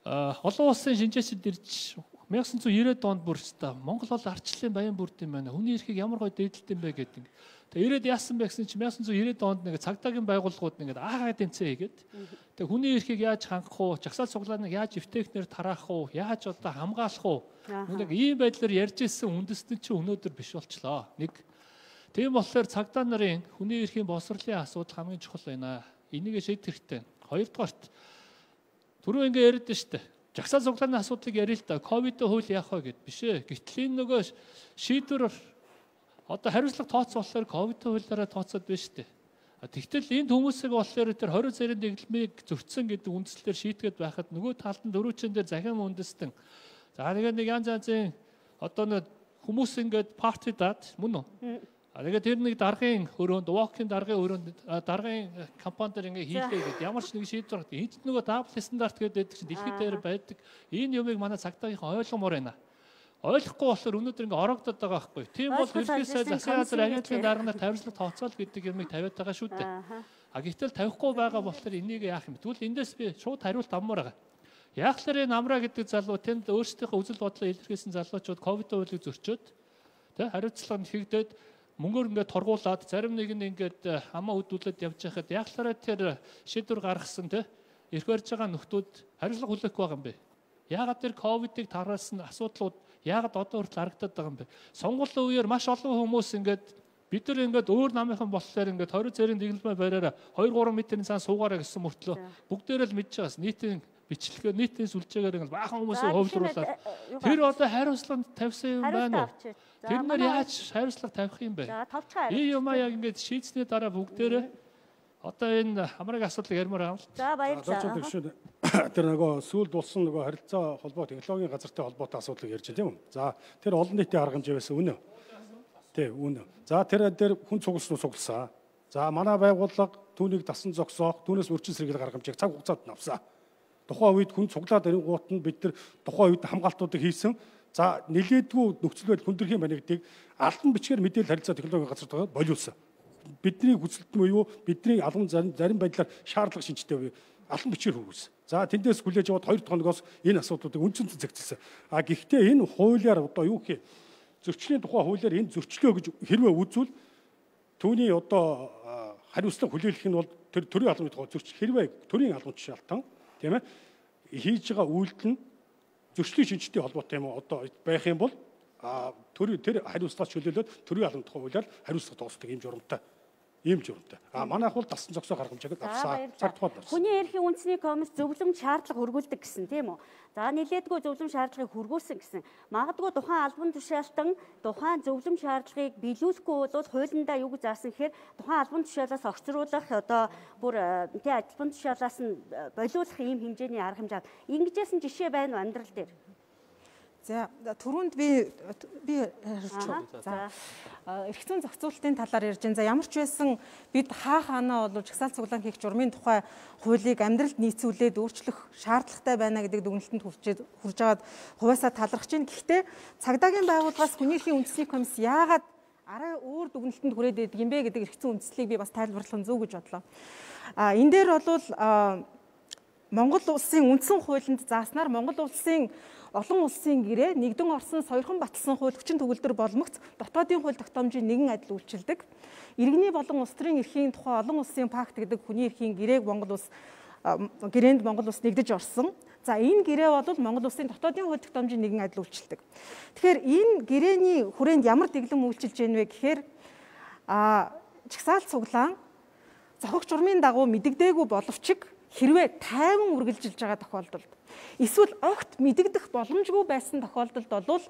олон улсын шинжээчид ирж 천구 девяносто онд бүр өстой Монгол бол ардчлалын баян бүрд юм байна. Хүний эрхийг ямар гоё дээдэлт юм бэ гэдэг. Тэгээ ирээд яасан бэ гэсэн чинь 천구 девяносто онд нэг цагдаагийн байгууллагууд ингээд аагаа тэнцээ хийгээд тэгээ хүний эрхийг яаж хангах уу, жагсаал цуглааныг яаж эвтэхнэр тараах уу, яаж одоо хамгаалах уу. Нэг ийм байдлаар ярьж ирсэн үндэстэн чинь өнөөдөр биш болчлоо. Нэг тийм болохоор цагдаа нарын хүний эрхийн боловсролын асуудал хамгийн чухал байна. Энийг шийдэх хэрэгтэй. Хоёрдугаарт түрүү ингээ яриад штэ. Жагсаал цуглааны асуудлыг ярил л да. Ковид хууль яах вэ гэд биш ээ. Гэтэл энэ нөгөө шийдвэр одоо хариуцлага тооцсон болохоор ковид хуулиараа тооцоод байна штэ. Тэгтэл энд хүмүүсийг болохоор тэр хорин цэрийн дэглэмийг зөрчсөн гэдэг үндслээр шийдгээд байхад нөгөө талд нь дөрвүүчэн дээр захин үндэстэн. За нэг нэг янз янзын одоо нэг хүмүүс ингээд парти даад мөн үү? А тэгээд тэр нэг даргын өрөөнд, walk-ин даргын өрөөнд даргын компанидэр ингээ хийлээ гэдэг ямар ч нэг шийдвэр гаргад. Энд нөгөө дабл стандарт гэдэг чинь дэлхийд дээр байдаг. Энэ юмыг манай цагдаагийнхан ойлгомоор байна. Ойлгохгүй болохоор өнөөдөр ингээ орогдоод байгаа байхгүй. Тийм бол ерөнхий сайд засгийн газар агентлагын дарганаар тавьжлага тооцоол гэдэг юмыг тавиад байгаа шүү дээ. А гэтэл тавихгүй байгаа болохоор энийг яах юм бэ? Тэгвэл эндээс би шууд хариулт авмаар байгаа. Яг л энэ Амраа гэдэг залуу тэнд өөрсдийнхөө үзэл бодлоо илэрхийлсэн залуучууд ковид хуулийг зөрчөөд тэ хариуцлага хийгдээд мөнгөөр ингээд торгуулад зарим нэг нь ингээд хамаа хөдөлгөд явж байхад яг л тэр шийдвэр гаргасан тэ эрх барьж байгаа нөхдүүд хариуцлага хүлээхгүй байгаа юм бэ. Яагаад тэр ковидыг тараасан асуудлууд яагаад одоо хүртэл харагдаад байгаа юм бэ? Сонгуулийн үеэр маш олон хүмүүс ингээд бид нар ингээд өөр намынхан болохоор ингээд хорин цэрийн дэглэмээ бариараа хоёр гурван метрийн цаан суугаараа гэсэн мөртлөө бүгдээрээ л мэдж байгаас нийтийн бичлэгээ нийтийн сүлжээгээр ингээд баахан хүмүүсийг хөвлөрүүлээд тэр одоо хариуцлага тавьсан юм байна уу? Тэр нар яаж хариуцлага тавих юм бэ? Энэ юм яг ингээд шийдсэний дараа бүгдээрээ одоо энэ хамраг асуудлыг ярмаар байна. За баярлалаа. Тэр нөгөө сүүлд болсон нөгөө харилцаа холбоо технологийн газартай холбоотой асуудлыг ярьж байна тийм үү? За тэр олон нийтийн арга хэмжээ байсан үнэ. Тий үнэ. За тэр дээр хүн цугласан цугласан. За манай байгууллага түүнийг дасан зогсоох, түүнээс өрчин сэргийл гарга хэмжээг цаг хугацаанд авсан. Тухайн үед хүн цуглаад ирэнгуут нь бид нар тухайн үед хамгаалтуудыг хийсэн. За нэлээдгүй нөхцөл байдал хүндэрхийн банигдыг албан бичгээр мэдээлэл харилцаа технологийн газар болиулсан. Бидний хүсэлт нь юу? Бидний албан зарим байдлаар шаардлага шинжтэй албан бичгээр хүргэсэн. За тэндээс хүлээж аваад хоёр дахь хоногоос энэ асуудлуудыг үндсэн зэгцсэн. А гэхдээ энэ хуулиар одоо юу гэх зөрчлийн тухай хуулиар энэ зөрчлөө гэж хэрвээ үзвэл түүний одоо хариуцлага хүлээлгэх нь бол тэр төрийн албаны тухай зөрчил хэрвээ төрийн албан тушаалтан тийм ээ хийж байгаа үйлдэл нь зөрчлийн шинжтэй холбоотой юм одоо байх юм бол төрийн тэр хариуцлагаас чөлөөлөөд төрийн албаны тухай хуулиар хариуцлага тоосдог юм журамтай. Ийм журамтай. А манайх бол дасан зогсоо гарга хэмжээгээр авсан. Цаг тухайд авсан. Хүний эрхийн үндэсний комисс зөвлөм шаардлага хөргүүлдэг гэсэн тийм үү? За нэлээдгүй зөвлөм шаардлагыг хөргүүлсэн гэсэн. Магадгүй тухайн албан тушаалтан тухайн зөвлөм шаардлагыг биелүүлэхгүй бол хуулиндаа юу гэж заасан гэхээр тухайн албан тушаалаас огцруулах одоо бүр тий албан тушаалаас нь болиулах ийм хэмжээний арга хэмжээ. Ингэжсэн жишээ байна уу амьдрал дээр? За түрүүнд би би ярьчихв. За эрх зүйн зохицуулалтын талаар ярьж байна. За ямар ч байсан бид хаа хаанаа бол жагсаал цуглаан хийх журмын тухай хуулийг амьдралд нийцүүлээд өөрчлөх шаардлагатай байна гэдэг дүгнэлтэнд хүрчээд хүрж байгаад хуваасаа талархаж байна. Гэхдээ цагдаагийн байгууллагаас хүний эрхийн үндэсний комисс яагаад арай өөр дүгнэлтэнд хүрээд байдаг юм бэ гэдэг эрх зүйн үндслийг би бас тайлбарлах нь зөв гэж бодлоо. А энэ дээр бол Монгол улсын үндсэн хуулинд зааснаар Монгол улсын олон улсын гэрээ нэгдэн орсон соёрхон баталсан хууль хүчин төгөлдөр боломогц дотоодын хууль тогтоомжийн нэгэн адил үйлчилдэг. Иргэний болон улс төрийн эрхийн тухай олон улсын пакт гэдэг хүний эрхийн гэрээг Монгол улс гэрээнд Монгол улс нэгдэж орсон. За энэ гэрээ бол Монгол улсын дотоодын хууль тогтоомжийн нэгэн адил үйлчилдэг. Тэгэхээр энэ гэрээний хүрээнд ямар дэглэм үйлчилж байна вэ гэхээр а жагсаал цуглаан зохих журмын дагуу мэдэгдээгүй боловч хэрвээ тайван үргэлжилж байгаа тохиолдолд эсвэл огт мэдэгдэх боломжгүй байсан тохиолдолд бол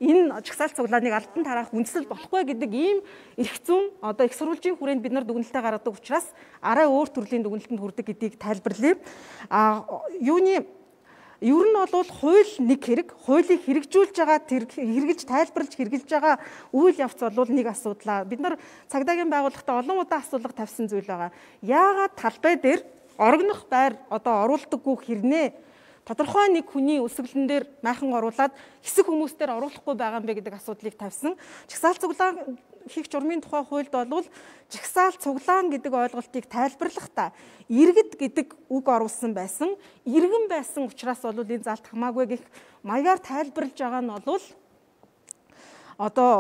энэ жагсаал цуглааныг албан тараах үндэслэл болохгүй гэдэг ийм эрх зүйн одоо их сурвалжийн хүрээнд бид нар дүгнэлтээ гаргадаг учраас арай өөр төрлийн дүгнэлтэнд хүрдэг гэдгийг тайлбарлая. А юуны ер нь бол хууль нэг хэрэг, хуулийг хэрэгжүүлж байгаа тэр хэрэгжилж тайлбарлаж хэрэгжилж байгаа үйл явц бол нэг асуудлаа. Бид нар цагдаагийн байгууллагатай олон удаа асуулга тавьсан зүйл байгаа. Яагаад талбай дээр орогнох байр одоо оруулдаггүй хэрнээ тодорхой нэг хүний өсвөлн дээр майхан оруулаад хэсэг хүмүүстээр оруулахгүй байгаа юм бэ гэдэг асуудлыг тавьсан. Жагсаал цуглаан хийх журмын тухай хуульд бол жагсаал цуглаан гэдэг ойлголтыг тайлбарлахдаа иргэд гэдэг үг оруулсан байсан. Иргэн байсан учраас бол энэ залт хамаагүй гэх маягаар тайлбарлаж байгаа нь бол одоо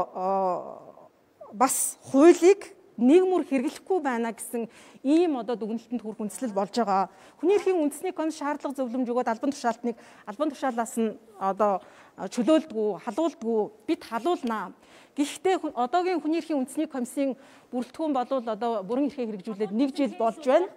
бас хуулийг нэг мөр хэрэглэхгүй байна гэсэн ийм одоо дүгнэлтэнд хүрэх үндслэл болж байгаа. Хүний эрхийн үндэсний комисс шаардлага зөвлөмж өгөөд албан тушаалтныг албан тушаалаас нь одоо чөлөөлдгүү, халуулдгүү бид халуулнаа. Гэхдээ одоогийн хүний эрхийн үндэсний комиссийн бүрэлдэхүүн болвол одоо бүрэн эрхээ хэрэгжүүлээд нэг жил болж байна.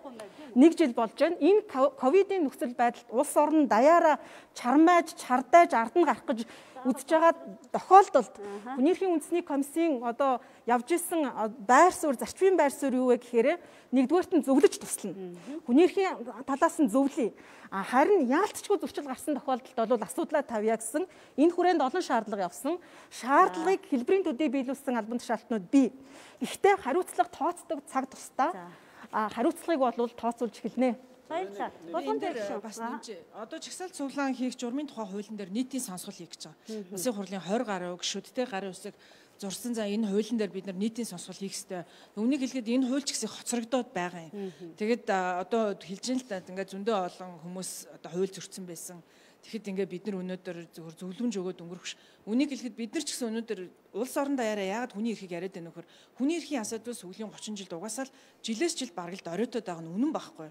Нэг жил болж байна. Энэ ковидын нөхцөл байдалд улс орн даяараа чармайж, чардайж ард нь гарах гэж үзэж байгаа тохиолдолд хүний эрхийн үндэсний комиссийн одоо явж исэн байр суурь, зарчмын байр суурь юу вэ гэхээр нэгдүгээрт нь зөвлөж туслана. Хүний эрхийн талаас нь зөвлөе. Харин яалтчгүй зөрчил гарсан тохиолдолд бол асуудлаа тавья гэсэн энэ хүрээнд олон шаардлага явсан. Шаардлагыг хэлбэрийн төдий биелүүлсэн албан тушаалтнууд бий. Гэхдээ хариуцлага тооцдог цаг тусдаа хариуцлагыг бол тооцоолж эхэлнэ. Баярлалаа. Болгон дээр бас нэмж одоо жагсаал цуглаан хийх журмын тухай хуулийн дээр нийтийн сонсгол хийх гэж байгаа. Улсын хурлын двадцать гаруй гишүүдтэй гарын үсэг зурсан за энэ хуулийн дээр бид нар нийтийн сонсгол хийх ёстой. Үнийг хэлэхэд энэ хууль ч гэсэн хоцрогдоод байгаа юм. Тэгэд одоо хэлж ин л та ингээд зөндөө олон хүмүүс одоо хууль зөрчсөн байсан. Тэгэхэд ингээд бид нар өнөөдөр зөвхөн зөвлөмж өгөөд өнгөрөх ш. Үнийг хэлэхэд бид нар ч гэсэн өнөөдөр улс орон даяараа яагаад хүний эрхийг яриад байна нөхөр. Хүний эрхийн асуудал сүүлийн тридцать жилд угаасаа л жилээс жил бараг л доройтоод байгаа нь үнэн байхгүй.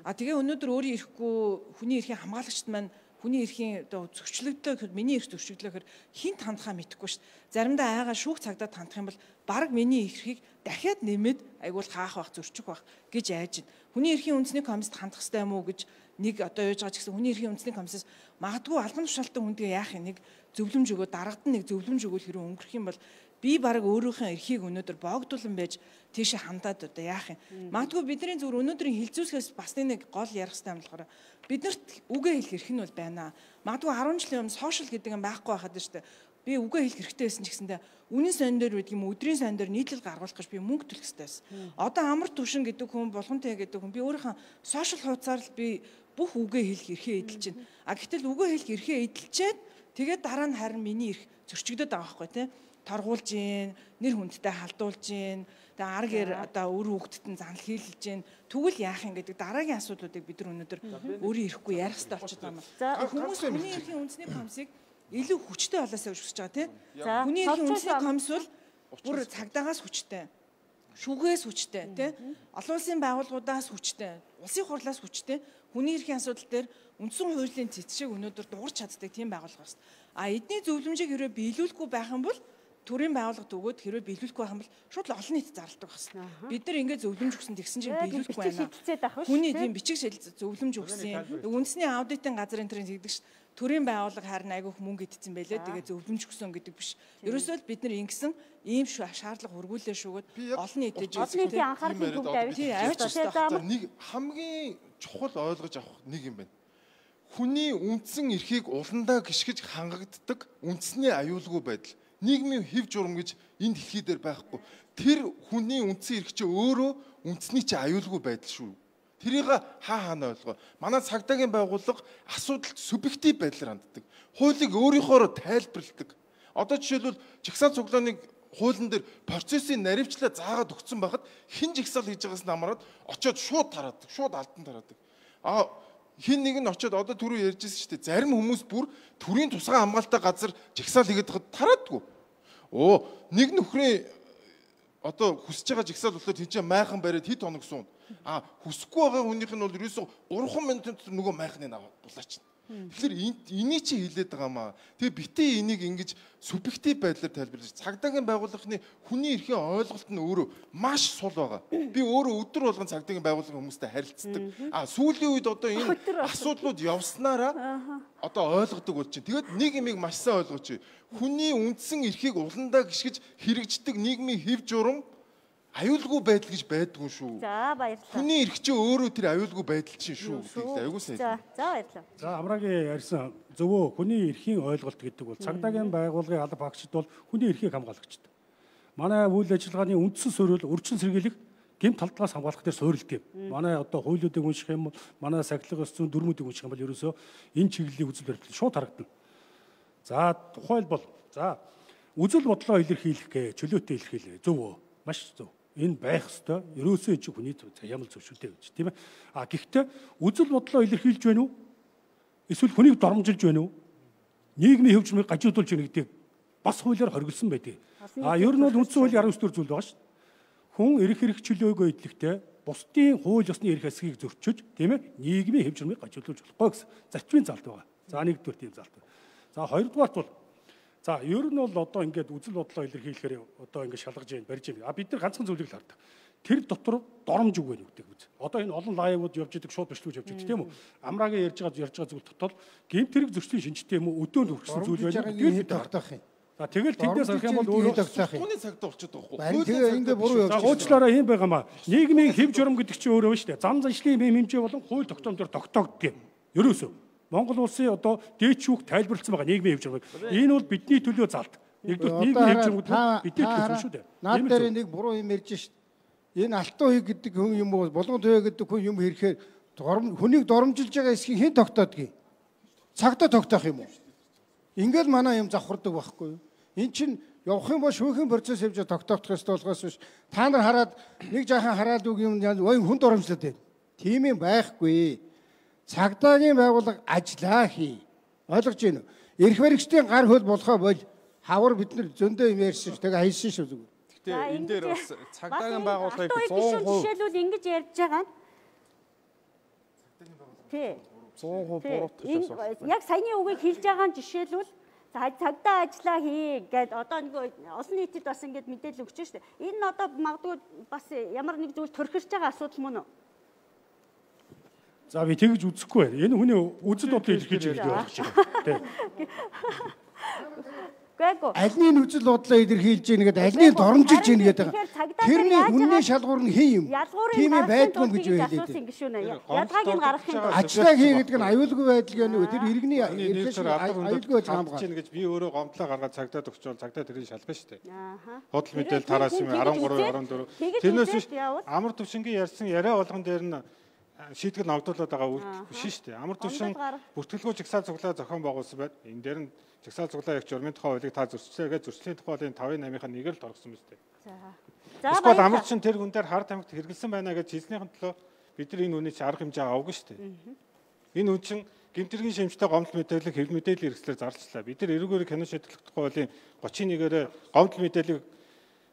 А тэгээ өнөөдөр өөрийн эрэхгүй хүний эрхийн хамгаалагчд маань хүний эрхийн одоо зөрчлөгдлөө миний эрх зөрчлөгдлөөхөр хинт хандхаа мэдэхгүй ш. Заримдаа айгаа шүүх цагдаад хандах юм бол бараг миний эрхийг дахиад нэмээд айгуул хаах байх зөрчих байх гэж айж байна. Хүний эрхийн үндэсний комиссд хандах хэрэгтэй юм уу гэж нэг одоо яаж байгаа ч гэсэн хүний эрхийн үндэсний комиссаас магадгүй албан тушаалттай хүндгээ яах юм нэг зөвлөмж өгөө дараагад нь нэг зөвлөмж өгөөл хэрэг өнгөрөх юм бол би бараг өөрийнхөө эрхийг өнөөдөр боогдуулан байж тийшээ хандаад одоо яах юм. Магадгүй бидний зүгээр өнөөдрийн хилцүүлсгээс бас нэг гол ярих хэрэгтэй юм болохоор биднэрт үгээ хэлэх эрх нь бол байна. Магадгүй арван жилийн өмнө сошиал гэдэг юм байхгүй байхад шүү дээ. Би үгээ хэлэх хэрэгтэй байсан ч гэсэндээ үнийн сон дээр байдаг юм өдрийн сон дээр нийтлэл гаргуулах гэж би мөнгө төлөх хэрэгтэй байсан. Одоо амар түвшин гэдэг хүн болгонтэй гэдэг хүн би өөрийнхөө сошиал хуудасаар л би бүх үгээ хэлэх эрхээ эдэлж байна. А гэтэл үгээ хэлэх эрхээ эдэлчээд тэгээд дараа нь харин миний эрх зөрчигдөд байгаа байхгүй тий. Торгуулж гин, нэр хүндтэй халдуулж гин, тэгээ ар гэр одоо өр хүүхдэд нь занал хийлж гин. Тэгвэл яах юм гэдэг дараагийн асуудлуудыг бид нар өнөөдөр өөрийн эрэхгүй ярих хэрэгтэй болчиход байна. Хүмүүс хүний эрхийн үндэсний комиссыг илүү хүчтэй болоосаа гэж хүсэж байгаа тий. Хүний эрхийн үндэсний комисс бол бүр цагдаагаас хүчтэй. Шүүхээс хүчтэй тий. Олон улсын байгууллагуудаас хүчтэй. Улсын хурлаас хүчтэй. Хүний эрхийн асуудал дээр үндсэн хуулийн цэцшийг өнөөдөр дуурч чаддаг тийм байгууллага байна. А эдний зөвлөмжийг хэрвээ биелүүлэхгүй байх юм бол төрийн байгууллагад өгөөд хэрвээ биелүүлэхгүй байх юм бол шууд л олон нийт зарладаг байна. Бид нар ингээд зөвлөмж өгсөн тэгсэн чинь биелүүлэхгүй байна. Хүний тийм бичиг зөвлөмж өгсөн. Үндэсний аудитын газрын төрийн тэгдэг ш. Төрийн байгууллага харин айгүйх мөнгө идсэн байлээ. Тэгээ зөвлөмж өгсөн гэдэг биш. Ерөөсөө л бид нар ингэсэн ийм шаардлага хургуулээ шүүгээд олон нийтэд олон нийтийн анхаарлыг төвд авчих. Нэг хамгийн чухал ойлгож авах нэг юм байна. Хүний үндсэн эрхийг уландаа гიშгэж хангагддаг үндэсний аюулгүй байдал. Нийгмийн хэв журам гэж энэ дэлхий дээр байхгүй. Тэр хүний үндсэн эрх чинь өөрөө үндэсний чинь аюулгүй байдал шүү. Тэрийг хаа хаана ойлгоо. Манай цагдаагийн байгууллага асуудалд субъектив байдлаар ханддаг. Хуулийг өөрийнхөөроо тайлбарладаг. Одоо жишээлбэл жагсаал цуглааныг хуулийн дээр процессын наривчлаа заагаад өгсөн байхад хин жагсаал хийж байгаас намараад очиод шууд тараадаг, шууд алдан тараадаг. А хин нэг нь очиод одоо түрүү ярьжсэн шүү дээ. Зарим хүмүүс бүр төрийн тусгай хамгаалалттай газар жагсаал хийгээд хад тараадгүй. Оо, нэг нөхрийн одоо хүсэж байгаа жагсаал болохоор тийч майхан бариад хэд хоног суун. А хүсэхгүй байгаа хүнийх нь бол ерөөсөө гурван минутын дотор нөгөө майхныг аваад дулаач. Тэгэхээр энийг чи хэлээд байгаа маа. Тэгээ битээ энийг ингэж субъектив байдлаар тайлбарлаж цагдаагийн байгууллагын хүний эрхийн ойлголт нь өөрөө маш сул байгаа. Би өөрөө өдөр болгон цагдаагийн байгууллагын хүмүүстэй харилцдаг. А сүүлийн үед одоо энэ асуудлууд явснараа одоо ойлгодог болж байна. Тэгээд нэг юмыг маш сайн ойлгооч. Хүний үндсэн эрхийг уландаа гიშгэж хэрэгждэг нийгмийн хэв журам аюулгүй байдал гэж байдгүй шүү. За баярлалаа. Хүний эрх чинь өөрөө тэр аюулгүй байдал чинь шүү гэдэгт аюулгүй сайн. За за баярлалаа. За Амрагийн ярьсан зөвөө хүний эрхийн ойлголт гэдэг бол цагдаагийн байгууллагын алба багчид бол хүний эрхийг хамгаалагчд. Манай үйл ажиллагааны үндсэн суурь бол өрчин сэргийлэх гэмт талдгаас хамгаалах дээр суурилт юм. Манай одоо хуулиудыг унших юм бол манай сахилга ёс зүйн дүрмүүдийг унших юм бол ерөөсөө энэ чиглэлийн үзэл баримтлал шууд харагдана. За тухайлбал за үзэл бодлоо илэрхийлэх гэ чөлөөтэй илэрхийлээ. Зөв үү? Маш зөв. Энэ байх ёстой. Ерөөсөө энэ чинь хүний ямар зөвшөлтэй гэж тийм ээ. А гэхдээ үзэл бодлоо илэрхийлж байна уу? Эсвэл хүнийг доромжилж байна уу? Нийгмийн хэв чурмыг гажуудуулж байна гэдэг бас хуулиар хоригдсон байдаг. А ер нь бол үндсэн хуулийн арван дөрөв зүйл байгаа шүү дээ. Хүн эрх хэрэг чөлөөгөө идэлхтэй бусдын хууль ёсны эрх хэсгийг зөрчиж тийм ээ нийгмийн хэв чурмыг гажуулж болохгүй гэсэн зарчмын залт байгаа. За нэгдүгээр тийм залт. За хоёрдугаарт бол за ер нь бол одоо ингээд үзэл бодлоо илэрхийлэхээр одоо ингээд шалгаж जैन барьж байна. А бид нар ганцхан зүйлийг л хардаг. Тэр дотор доромж үг байна гэдэг үз. Одоо энэ олон лайвууд явж идэг шууд бичлүүж явж идэг тийм үү? Амраагийн ярьж байгаа ярьж байгаа зүйл дотор гэмт хэрэг зөрчлийн шинжтэй юм уу өдөөнд хүрсэн зүйл байна. Тэгэл бид тогтоох юм. За тэгэл тэндээс харах юм бол өөрөө хүний цагт болчиход байгаа байхгүй. Тэгээ ингээ буруу явж. За уучлаарай юм байгаамаа. Нийгмийн хэв журам гэдэг чинь өөрөө байна шүү дээ. Зам заншлын мэм хэмжээ болон хууль тогтоомжоор тогтоогддог юм. Ерөөсөө Монгол улсын одоо дээд шүүх тайлбарлсан байгаа нийгмийн хэв журмыг. Энэ бол бидний төлөө залт. Нэгдүгээр нийгмийн хэв журмууд бидний төлөө шүү дээ. Наад дээр нэг буруу юм ярьж шít. Энэ алтан хүй гэдэг хүн юм уу? Болгон төвөө гэдэг хүн юм хэрхээр хүнийг доромжилж байгаа эсхийг хэн тогтоодгийг? Цагтаа тогтоох юм уу? Ингээл манай юм завхардаг байхгүй юу? Эн чинь явах юм бол шүүхийн процесс явж тогтоох ёстой болохоос биш. Та нар хараад нэг жаахан хараад үг юм ой хүн доромжлоод байна. Тийм юм байхгүй. Цагдаагийн байгууллага ажиллаа хий. Ойлгож байна уу? Эрх баригчдын гар хөл болохоо бол хавар бид нар зөндөө юм ярьсан ш. Тэгээ хайсан ш зүгээр. Гэтэ энэ дээр бас цагдаагийн байгууллагыг цуун хувь жишээлбэл ингэж ярьж байгаа нь. Тий. цуун хувь буруутгах гэсэн. Яг саяны үгийг хэлж байгаа нь жишээлбэл цагдаа ажиллаа хий гэд одоо нэг олон нийтэд бас ингэж мэдээлэл өгч штэ. Энэ нь одоо магадгүй бас ямар нэг зүйл төрхирч байгаа асуудал мөн үү? За би тэгж үзэхгүй байна. Энэ хүний үзэл бодлыг илэрхийлж байгаа байх шиг. Тий. Гэгөө. Альны үзэл бодлоо илэрхийлж ийн гэдэг альны доромжилж ийн гэдэг. Тэрний үнний шалгуур нь хэн юм? Тийм байдгүй гэж хэлээд байна. Ядгааг нь гаргах юм. Ажлаа хий гэдэг нь аюулгүй байдал гэнэ үү? Тэр иргэний аюулгүй байдал хамгаалж чинь гэж би өөрөө гомдлоо гаргаад цагдаад өгчвөл цагдаа тэрийг шалгана шүү дээ. Худал мэдээлэл тараас юм арван гурав арван дөрөв. Тэрнээс биш амар төвшингийн ярьсан яриа болгон дээр нь шийтгэл ногдуулаад байгаа үйл биш шүү дээ. Амар төвшин бүртгэлгүй жагсаал цуглаа зохион байгуулсан байд. Энэ дээр нь жагсаал цуглаа ягч журмын тухай хуулийг та зөрчлөө гэж зөрчлийн тухай хуулийн тавын намынхаа нэгээр л оргосон биз дээ. За. Эсвэл амар чин тэр хүн дээр хар тамхит хэрэгэлсэн байна гэж хэлснийхэн төлөө бид нар энэ үний чи арга хэмжээ аваагүй шүү дээ. Энэ үн чин гэмтэргийн шимжтэй гомдол мэдээлэл хэв мэдээллийн хэрэгслээр зарчлаа. Бид нар эрүүгээр кино шийдвэрлэх тухай хуулийн гучин нэгээрээ гомдол мэдээлэл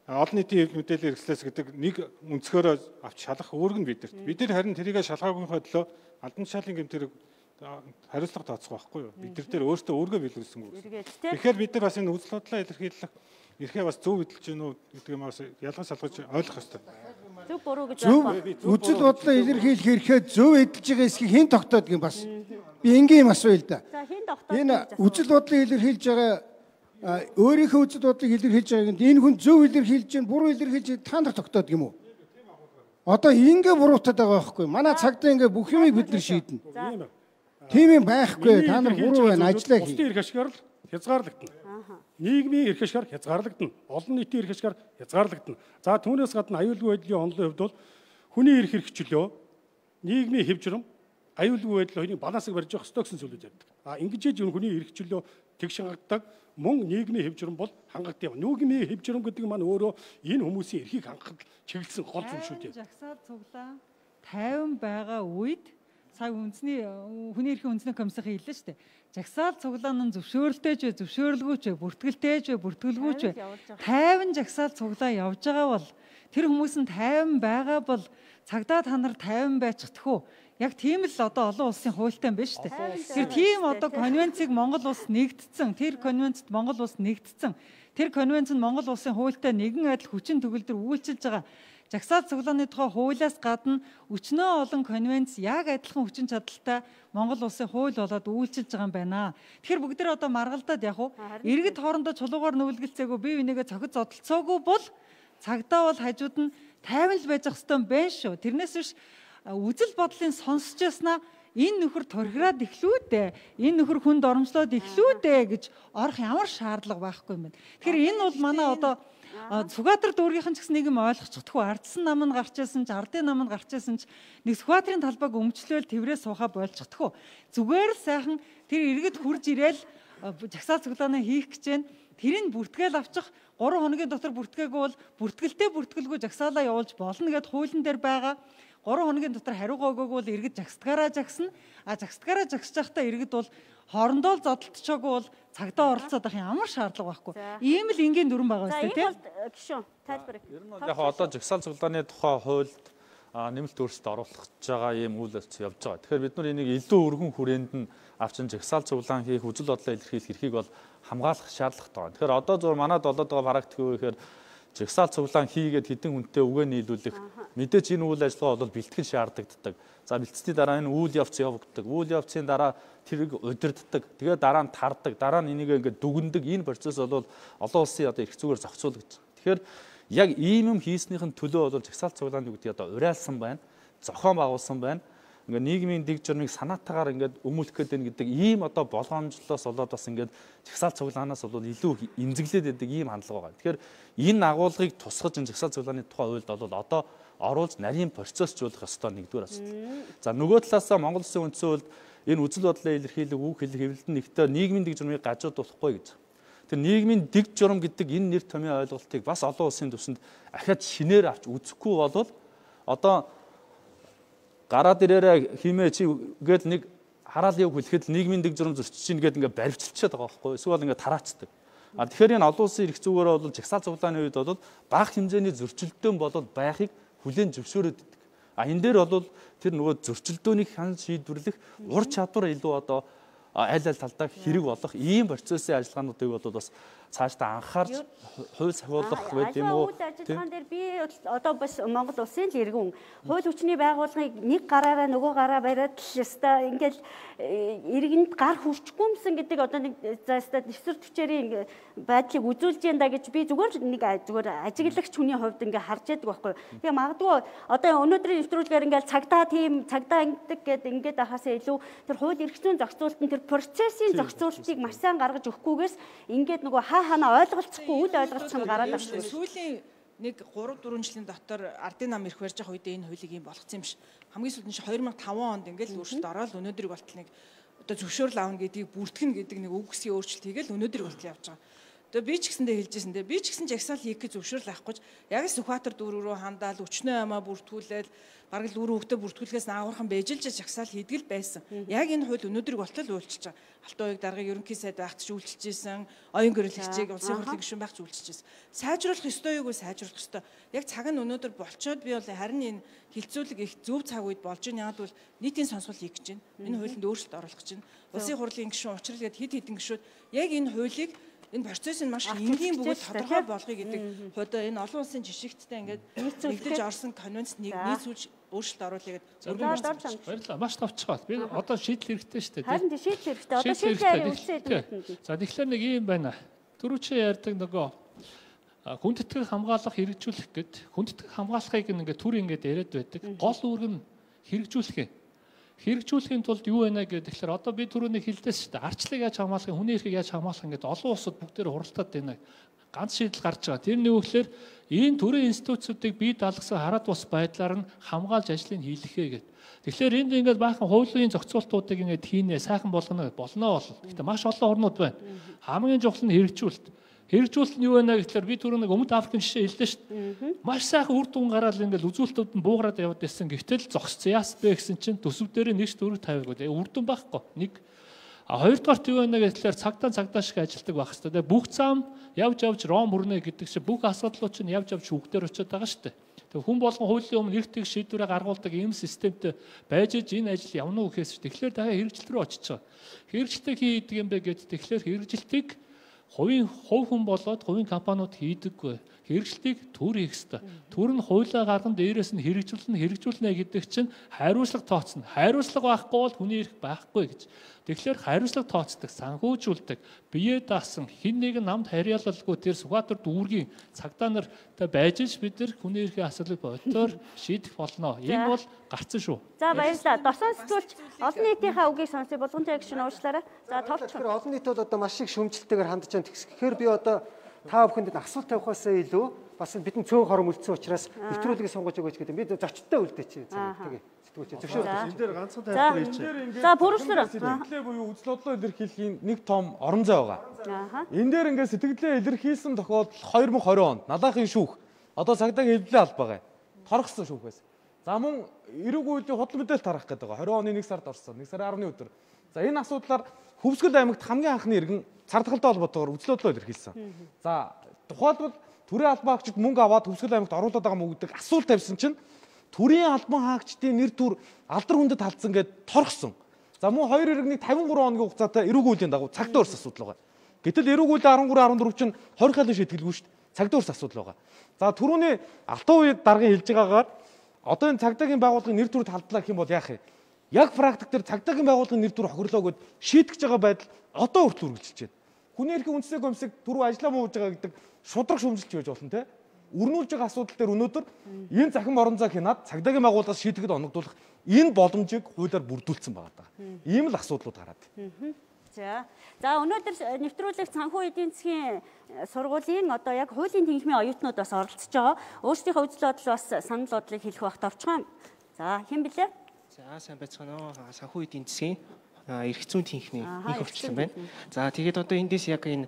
олон нийтийн хэв мэдээллийн хэрэгслээс гэдэг нэг өнцгөөрөө авч шалгах үүрэг нь бидэрт. Бид нар харин тэрийг шалгаагүйхөө төлөө алдан тушаалын гэмтэрэг хариуцлага тооцох байхгүй юу? Бид нар дээр өөртөө өөргөө биелүүлсэн үг. Тэгэхээр бид нар бас энэ үзэл бодлоо илэрхийлэх эрхээ бас зөв эдэлж гэнэ үү гэдэг юм бас ялгаж салгаж ойлгох ёстой. Зөв буруу гэж байна. Үзэл бодлоо илэрхийлэх эрхээ зөв эдэлж байгаа эсхийг хэн тогтоодгийг бас би энгийн юм асууя л да. Энэ үзэл бодлоо илэрхийлж байгаа өөрийнхөө үзэл бодлыг илэрхийлж байгааг энэ хүн зөв илэрхийлж чинь буруу илэрхийлж та нар тогтоод юм уу? Одоо ингээ буруутаад байгаа байхгүй. Манай цагдаа ингээ бүх юмыг бид нар шийднэ. Тийм юм байхгүй. Та нар буруу байна. Ажиллаа хий. Бусдын эрх ашгаар л хязгаарлагдана. Нийгмийн эрх ашгаар хязгаарлагдана. Олон нийтийн эрх ашгаар хязгаарлагдана. За түүнээс гадна аюулгүй байдлын онолын хувьд бол хүний эрх хэрэгчлөө, нийгмийн хэв журам, аюулгүй байдал хоёрын балансыг барьж явах ёстой гэсэн зүйлүүд ярьдаг. А ингэж ээж хүний эрх хэрэгчлөө тэгш хангагддаг. Мөн нийгмийн хэв журам бол хангагддаг. Нийгмийн хэв журам гэдэг нь маань өөрөө энэ хүмүүсийн эрхийг хангахад чиглэсэн гол зүйл шүү дээ. Жагсаал цуглаа тайван байгаа үед сая үндэсний хүний эрхийн үндэсний комиссийн хэллээ шүү дээ. Жагсаал цуглаа нь зөвшөөрөлтэй ч вэ, зөвшөөрөлгүй ч вэ, бүртгэлтэй ч вэ, бүртгэлгүй ч вэ. Тайван жагсаал цуглаа явж байгаа бол тэр хүмүүс нь тайван байгаа бол цагдаа та нар тайван байцдах уу? Яг тийм л одоо олон улсын хуультай юм байна шүү дээ. Тэр тийм одоо конвенцийг Монгол улс нэгдсэн, тэр конвенцэд Монгол улс нэгдсэн. Тэр конвенц нь Монгол улсын хуультай нэгэн адил хүчин төгөлдөр үйлчилж байгаа. Жагсаал цуглааны тухай хуулиас гадна өчнөө олон конвенц яг адилхан хүчин чадалтай Монгол улсын хууль болоод үйлчилж байгаа юм байна. Тэгэхээр бүгд нэр одоо маргалдаад яг уу иргэд хоорондоо чулуугаар нүгэлгэлцээгүй бие бинийгээ цохид зодтолцоогүй бол цагдаа бол хажууд нь тайван л байж ах хэвээр юм байна шүү. Тэрнээс биш үзэл бодлын сонсч яснаа энэ нөхөр турхираад эхлүү дээ. Энэ нөхөр хүнд оромжлоод эхлүү дээ гэж орох ямар шаардлага байхгүй юм бэ. Тэгэхээр энэ бол манай одоо Сүхбаатар дүүргийнхэн ч гэсэн нэг юм ойлгочихдаггүй. Ардсан нам нь гарч ирсэн ч, ардын нам нь гарч ирсэн ч нэг Сүхбаатарын талбайг өмчлөөл тэрвээ сууха болчихдаггүй. Зүгээр л сайхан тэр иргэд хурж ирээл жагсаал цуглаанаа хийх гэж байна. Тэрийг бүртгээл авчих гурван хоногийн дотор бүртгээгүй бол бүртгэлтэй бүртгэлгүй жагсаалаа явуулж болно гэд хуулийн дээр байгаа. гурван хоногийн дотор хариугаа өгөөгүй бол иргэд жагсдгаараа жагсна. А жагсдгаараа жагсж байхдаа иргэд бол хоорондоо л зодтолцоогүй бол цагдаа оролцоод байх ямар шаардлага байхгүй. Ийм л энгийн дүрэн байгаа үстэй тийм. Гişүн тайлбар. Ер нь бол яг одоо жагсаал цуглааны тухай хуульд нэмэлт өөрчлөлт оруулах гэж байгаа ийм үйл явц явж байгаа. Тэгэхээр бид нар энийг илүү өргөн хүрээнд нь авчин жагсаал цуглаан хийх, үзэл бодлоо илэрхийлэх эрхийг бол хамгаалах шаардлагатай байна. Тэгэхээр одоо зөв манад болоод байгаа практик юу гэхээр жагсаал цуглаан хийгээд хэдэн хүнтэй үгээ нийлүүлэх мэдээж энэ үйл ажиллагаа бол бэлтгэл шаардлагаддаг. За бэлтцсний дараа энэ үйл явц явагддаг. Үйл явцын дараа тэрийг удирддаг. Тэгээд дараа нь тардаг. Дараа нь энийг ингээд дүгндэг. Энэ процесс бол олон улсын одоо эрх зүгээр зохицуулагдаж байгаа. Тэгэхээр яг ийм юм хийснийхэн төлөө бол жагсаал цуглааны гэдэг одоо уриалсан байна. Зохион байгуулсан байна. Ингээд нийгмийн дэг журмыг санаатаагаар ингээд өмүүлэх гээд байна гэдэг ийм одоо болгоомжлолоос болоод бас ингээд жагсаал цуглаанаас бол илүү эмзэглээд байдаг ийм хандлага байгаа. Тэгэхээр энэ агуулгыг тусгаж энэ жагсаал цуглааны тухай хуульд бол одоо оруулж нарийн процессжуулах ёстой нэгдүгээр асуудал. За нөгөө талаасаа Монгол Улсын үндсэн хуульд энэ үзэл бодлоо илэрхийлэх, үг хэлэх, хэвлэлтэн нэгтээ нийгмийн дэг журмыг гажууд болохгүй гэж. Тэр нийгмийн дэг журам гэдэг энэ нэр томьёо ойлголтыг бас олон улсын түвшинд ахаад шинээр авч үзэхгүй болвол одоо гараад ирээрээ химээ чи гээд нэг хараал яв хүлэхэд нийгмийн дэг журам зөрчиж чинь гээд ингээд баривчилчаад байгаа байхгүй. Эсвэл ингээд тараацдаг. А тэгэхээр энэ олон улсын эрх зүгээр бол жагсаал цуглааны үед бол бага хэмжээний зөрчилдөөн болоод байхыг хүлээн зөвшөөрöd байдаг. А энэ дээр бол тэр нөгөө зөрчилдөөнийг хан шийдвэрлэх ур чадвар илүү одоо аль аль талдаа хэрэг болох ийм процессын ажиллагаануудыг бол бас цаашдаа анхаарч хууль сахиулах байд юм уу? Үйл ажиллагаан дээр би одоо бас Монгол улсын л иргэн хууль хүчний байгууллагыг нэг гараараа нөгөө гараа бариад л ёстой ингээд иргэнд гар хүрчгүймсэн гэдэг одоо нэг за ёстой дэвсгэр төчээрийн байдлыг үзүүлж янда гэж би зүгээр нэг зүгээр ажиглагч хүний хувьд ингээд харж яддаг байхгүй. Тэгээ магадгүй одоо өнөөдрийн нэвтрүүлгээр ингээд цагдаа тийм цагдаа ингэдэг гэдэг ингээд ахаасаа илүү тэр хууль эрх зүйн зохицуулалтын тэр процессын зохицуулалтыг маш сайн гаргаж өгөхгүйгээс ингээд нөгөө хаа ханаа ойлголцохгүй үл ойлголцох нь гараад байна. Сүүлийн нэг гурав дөрвөн жилийн дотор ардын нам ирэх барьж байгаа үедээ энэ хуулийг ийм болгоцсон юм ш. Хамгийн сүүлд нь хоёр мянга таван онд ингээд өөрчлөлт ороод өнөөдрийг болтол нэг одоо зөвшөөрөл аавна гэдгийг бүртгэн гэдэг нэг үг гэсгийн өөрчлөлт хийгээл өнөөдрийг болтол явж байгаа. Тэгээ би ч гэсэндээ хэлжсэн дээ. Би ч гэсэн жагсаал хийх гэж зөвшөөрөл авахгүй. Яг л Сүхбаатар дүүрэг рүү хандаал өчнөө ямаа бүртгүүлээд бараг л үр хөвгтө бүртгүүлэхээс наагуурхан бэжилж жагсаал хийдэг л байсан. Яг энэ хууль өнөөдрийг болтол үйлчилж байгаа. Алтан уяг даргыг ерөнхий сайд багт ч үйлчилжсэн, оюун гэрэл хичээг улсын хурлын гишүүн багт үйлчилжсэн. Сайжруулах ёстой юугүй сайжруулах ёстой. Яг цаг нь өнөөдөр болчоод би бол харин энэ хилцүүлэг их зөв цаг үед болж байна. Яг бол нийтийн сонсгол хийх гэж байна. Энэ хуулинд өөрчлөлт оруулах гэж байна. Улсын хурлын гишүүн учрал гээд хэд хэдэн гишүүд яг энэ хуулийг энэ процесс нь маш энгийн бөгөөд тодорхой болгоё гэдэг хувьд энэ олон улсын жишгттэй ингээд нэгдэж орсон конвенцэд нэг нийцүүлж өөрчлөлт оруулъя гэдэг баярлалаа. Маш товчгоо. Би одоо шийдэл хэрэгтэй шүү дээ. Харин шийдэл хэрэгтэй. Одоо шийдэл үлсээд. За тэгэхээр нэг юм байна. Түрүүчээ ярьдаг нөгөө хүндэтгэх хамгаалах хэрэгжүүлэх гэд хүндэтгэх хамгаалахыг ингээд түр ингээд яриад байдаг. Гол үүрэг нь хэрэгжүүлэх юм. Хэрэгжүүлэхийн тулд юу байна гэдэг тэгэхээр одоо би түрүүний хэлдээс шүү дээ. Арчлыг яаж хамгаалах, хүний эрхийг яаж хамгаалах ингээд олон улсууд бүгдээр хуралдаад байна. Ганц шийдэл гарч байгаа. Тэр нь юу гэхээр энэ төрлийн институцуудыг бий даалгасан хараад бус байдлаар нь хамгаалж ажлыг хийлгэхээ гэдэг. Тэгэхээр энд ингээд баахан хуулийн зохицуултуудыг ингээд хийнэ, сайхан болгоно болно бол. Гэхдээ маш олон орнууд байна. Хамгийн чухал нь хэрэгжүүлэлт. Хэрэгжүүлэлт нь юу байна гэхээр би түрүү нэг өмнөд Африкийн жишээ хэллээ шүү дээ. Маш сайхан үр дүн гараад ингээд үзүүлэлтүүд нь буугараад яваад байсан. Гэвтэл зогсцсон яас бэ гэсэн чинь төсөв дээр нэгж дөрөв тавиагүй. Үр дүн байхгүй. Нэг а хоёрдугаарт юу байна гэхээр цагдаа цагдаа шиг ажилтдаг байх хэрэгтэй. Бүх зам явж явж Ром хүрнэ гэдэг чинь бүх асуудлууд чинь явж явж хүүхдээр очиод байгаа шүү дээ. Тэг хүн болгон хуулийн өмнө эрт их шийдвэрээ гаргуулдаг ийм системтэй байж энэ ажил явна уу гэхээс тэгэхээр дахиад хэрэгжилт рүү очиж байгаа. Хэрэгжилтийг хийдэг юм бэ гэдэг тэгэхээр хэрэгжилтийг хувийн хувь хүн болоод хувийн компаниуд хийдэггүй. Хэрэгжилтийг төр хийх ёстой. Төр нь хуулиа гарган дээрээс нь хэрэгжүүлнэ хэрэгжүүлнэ гэдэг чинь хариуцлага тооцно. Хариуцлага байхгүй бол хүний эрх байхгүй гэж. Тэгэхээр хариуцлага тооцдог, санхүүжүүлдэг, бие даасан хин нэгэн намд харьяалалгүй тэр Сүхбаатар дүүргийн цагдаа нартай байж ш бид нар хүний эрхийн асуудлыг бодтоор шийдэх болно. Энэ бол гарцсан шүү. За баярлалаа. Досон сэтгүүлч олон нийтийнхээ үгийг сонсъё. Булган цай гишүүн уучлаарай. За товч. Тэгэхээр олон нийт бол одоо маш их шүмжлэлтэйгээр хандж байгаа. Тэгэхээр би одоо та бүхэнд асуулт тавихаас илүү бас бидний цөөн хором үлдсэн учраас нэвтрүүлгийг сонгож өгөөч гэдэг. Бид зочдтой үлдээч. Тэгээ сэтгүүлч зөвшөөрөл. Энэ дээр ганцхан тайлбар хийчих. За бүрслэр. Сэтгэлээ буюу үзэл бодлоо илэрхийлэхийн нэг том орон зай байгаа. Энэ дээр ингээд сэтгэлээ илэрхийлсэн тохиолдол две тысячи двадцать онд Налаахын шүүх одоо цагдаагийн хэвлэлийн албагаа торгосон шүүх байсан. За мөн эрүүг үеийн худал мэдээлэл тарах гэдэг байгаа. двадцать оны нэг сард орсон. нэг сарын арваны өдөр. За энэ асуудлаар Хөвсгөл аймагт хамгийн анхны иргэн цардгалтай холбоотойгоор үзэл бодлоо илэрхийлсэн. За тухайлбал төрийн албан хаагчид мөнгө аваад Хөвсгөл аймагт оруулаад байгаа мөн гэдэг асуулт тавьсан чинь төрийн албан хаагчдын нэр төр алдар хүндэд талдсан гэд торгсон. За мөн хоёр иргэний тавин гурван хоногийн хугацаатай эрүүг үеийн дагуу цагдаа өрс асуудал байгаа. Гэтэл эрүүг үеийн арван гурван арван дөрөв чинь хорих хайлын шийдгэлгүй шүү дээ. Цагдаа өрс асуудал байгаа. За түрүүний алтан үед даргын хэлж байгаагаар одоо энэ цагдаагийн байгууллагын нэр төр талдлаа гэх юм бол яах вэ? Яг практик дээр цагдаагийн байгууллагын нэр төр хохирлоо гэд шийтгэж байгаа байдал одоо хүртэл үргэлжилж байна. Хүний эрхийн үндэсний комиссыг түрүү ажиллаа мууж байгаа гэдэг шудраг шүүмжилж байж болно те. Өрнүүлж байгаа асуудал дээр өнөөдөр энэ захин орон зай хянаад цагдаагийн байгууллагаас шийдэхэд оногдуулах энэ боломжийг хуулиар бүрдүүлсэн байгаа даа. Ийм л асуудлууд гараад. За. За өнөөдөр нэвтрүүлэг санхүү эдийн засгийн сургуулийн одоо яг хуулийн тэнхимийн оюутнууд бас оролцож байгаа. Өөрсдийнхөө үзэл бодол бас санал бодлыг хэлэх багт орчхон. За хэн блэ? За сайн байцгаана уу. Санхүү эдийн засгийн эрх зүйн тэнхимийн их өвчлөн байна. За тэгээд одоо эндээс яг энэ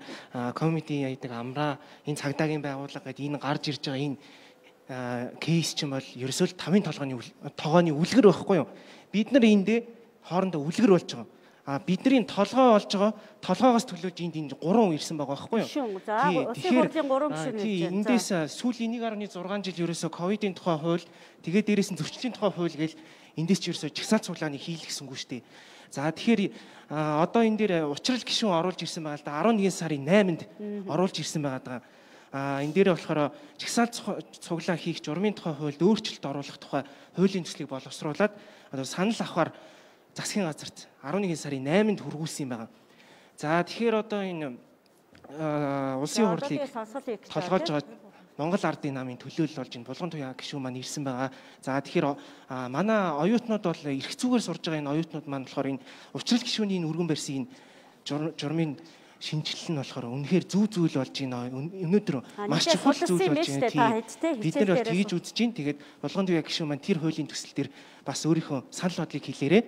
комити яадаг амраа энэ цагдаагийн байгууллага гэдэг энэ гарч ирж байгаа энэ кейс чинь бол ерөөсөө тавын толгойн тогооны үлгэр байхгүй юу? Бид нар эндээ хоорондоо үлгэр болж байгаа. А бидний толгой болж байгаа толгоогоос төлөөж энд энэ гурван ирсэн байгаа байхгүй юу? Тэгэхээр эндээс сүүлийн нэг гаруй зургаан жил ерөөсөө ковидын тухай хууль тэгээд дээрээс нь зөрчлийн тухай хууль гээл эндээс ч ерөөсөө чагсаалт цуглааны хийлгэсэнгүй шүү дээ. За тэгэхээр одоо энэ дээр учрал гишүүн оруулж ирсэн байгаа л да арван нэгэн сарын найманд оруулж ирсэн байгаа даа. А энэ дээр болохоор чагсаалт цуглаан хийх журмын тухай хуульд өөрчлөлт оруулах тухай хуулийн төслийг боловсруулад одоо санал авахар засгийн газарт арван нэгэн сарын найманд хүргүүлсэн юм байна. За тэгэхээр одоо энэ улсын хурлыг толгоож байгаа Монгол Ардын намын төлөөлөл болж энэ булган туяа гишүүн маань ирсэн байгаа. За тэгэхээр манай оюутнууд бол эрх зүйгээр сурж байгаа энэ оюутнууд маань болохоор энэ учрал гишүүний энэ өргөн барьсан энэ журмын шинжилэл нь болохоор үнэхээр зүү зүйл болж байна. Өнөөдөр маш чухал зүйл болж байна. Бид нар бол тгийж үзэж байна. Тэгээд булган туяа гишүүн маань тэр хуулийн төсөл дээр бас өөрийнхөө санал бодлыг хэлээрэй.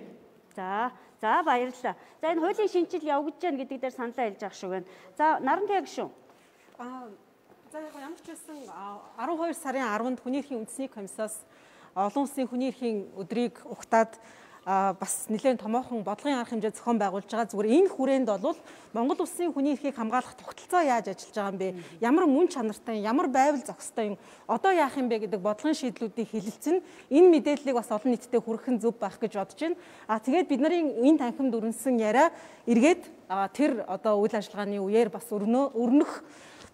За, за баярлалаа. За энэ хуулийн шинжилэл явагдаж байна гэдэг дээр саналаа хэлж авах шүү байна. За Нарантуяа гишүүн. Аа за яг ямар ч байсан арван хоёр сарын арванд хүний эрхийн үндэсний комиссаас олон улсын хүний эрхийн өдрийг угтаад бас нэлээд томоохон бодлогын арга хэмжээ зохион байгуулж байгаа. Зүгээр энэ хүрээнд бол Монгол улсын хүний эрхийг хамгаалах тогтолцоо яаж ажиллаж байгаа юм бэ? Ямар мөн чанартай, ямар байвал зохистой юм? Одоо яах юм бэ гэдэг бодлогын шийдлүүдийг хэлэлцэн энэ мэдээллийг бас олон нийтэд хүргэх нь зөв байх гэж бодож байна. А тэгээд бид нарын энэ танхимд өрнөсөн яриа эргээд тэр одоо үйл ажиллагааны үеэр бас өрнө өрнөх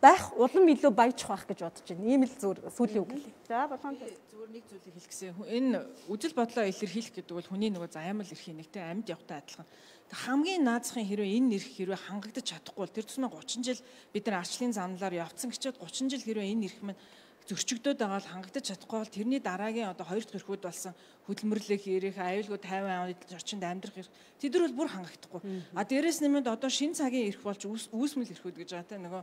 байх улам илүү баяжих байх гэж бодож байна. Ийм л зүгээр сүүлийн үг лээ. За болгоом зүгээр нэг зүйлийг хэлчихсэн. Энэ үжил бодлоо илэрхийлэх гэдэг бол хүний нөгөө заямал эрхийн нэгтэй амьд явахтай адилхан. Хамгийн наазахын хэрвээ энэ эрх хэрвээ хангагдаж чадахгүй бол тэр тусмаа гучин жил бид нар арчлалын замналаар явцсан гэчээд гучин жил хэрвээ энэ эрх маань зөрчигдөөд байгаа бол хангагдаж чадахгүй бол тэрний дараагийн одоо хоёр дахь эрхүүд болсон хөдөлмөрлөх эрх, аюулгүй тайван орчинд амьдрах эрх тэдэр бол бүр хангахдахгүй. А дээрэс нэмээд одоо шинэ цагийн эрх болж үүсмэл эрхүүд гэж байгаа те нөгөө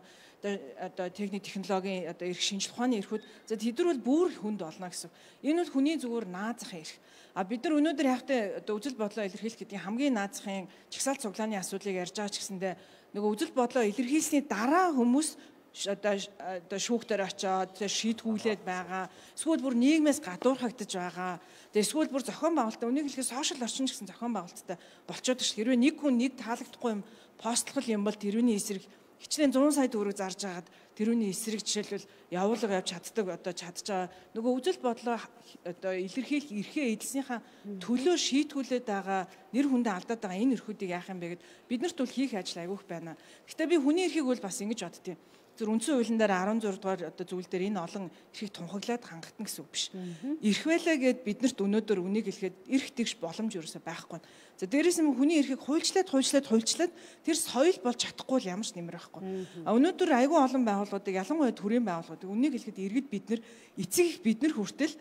одоо техник технологийн одоо эрх шинжилх ухааны эрхүүд за тэдэр бол бүр хүнд олно гэсэн. Энэ бол хүний зүгээр наазах эрх. А бид нар өнөөдөр яахтай одоо үжил бодлоо илэрхийлэх гэдэг хамгийн наазахын чагсаалт цуглааны асуудлыг ярьж байгаа ч гэсэндээ нөгөө үжил бодлоо илэрхийлсний дараа хүмүүс одоо одоо шүүхтэр очоод шийдгүүлээд байгаа. Эсвэл бүр нийгмээс гадуурхагдаж байгаа. Тэгээ эсвэл бүр зохион байгуулалтаа үнийг хэлэхэд сошиал орчин гэсэн зохион байгуулалттай болчиход ш. Хэрвээ нэг хүн нэг таалагдахгүй юм постлох юм бол тэрүүний эсрэг хичнээн зуун сая төгрөг зарж агаад тэрүүний эсрэг жишээлбэл явуулга явж чаддаг одоо чадж байгаа. Нөгөө үжил бодлоо одоо илэрхийлэх эрхээ эдэлснийхаа төлөө шийтгүүлээд байгаа нэр хүндээ алдаад байгаа энэ эрхүүдийг яах юм бэ гэд биднэрт бол хийх ажил айгүйх байна. Гэхдээ би хүний эрхийг бол бас ингэж боддتي. Зөв үндсэн хуулийн дээр арван зураг дугаар одоо зүйл дээр энэ олон эрхийг тунхаглаад хангалтна гэсэн үг биш. Эрх байлаа гэд биднэрт өнөөдөр үнийг хэлэхэд эрх тэгш боломж ерөөсөй байхгүй. За дээрээс нь хүний эрхийг хуульчлаад хуульчлаад хуульчлаад тэр соёл болж чадахгүй л ямар ч нэмэр байхгүй. А өнөөдөр айгүй олон байгууллагуудыг ялангуяа төрийн байгууллагуудыг үнийг хэлэхэд иргэд бид нар эцэг их бид нар хүртэл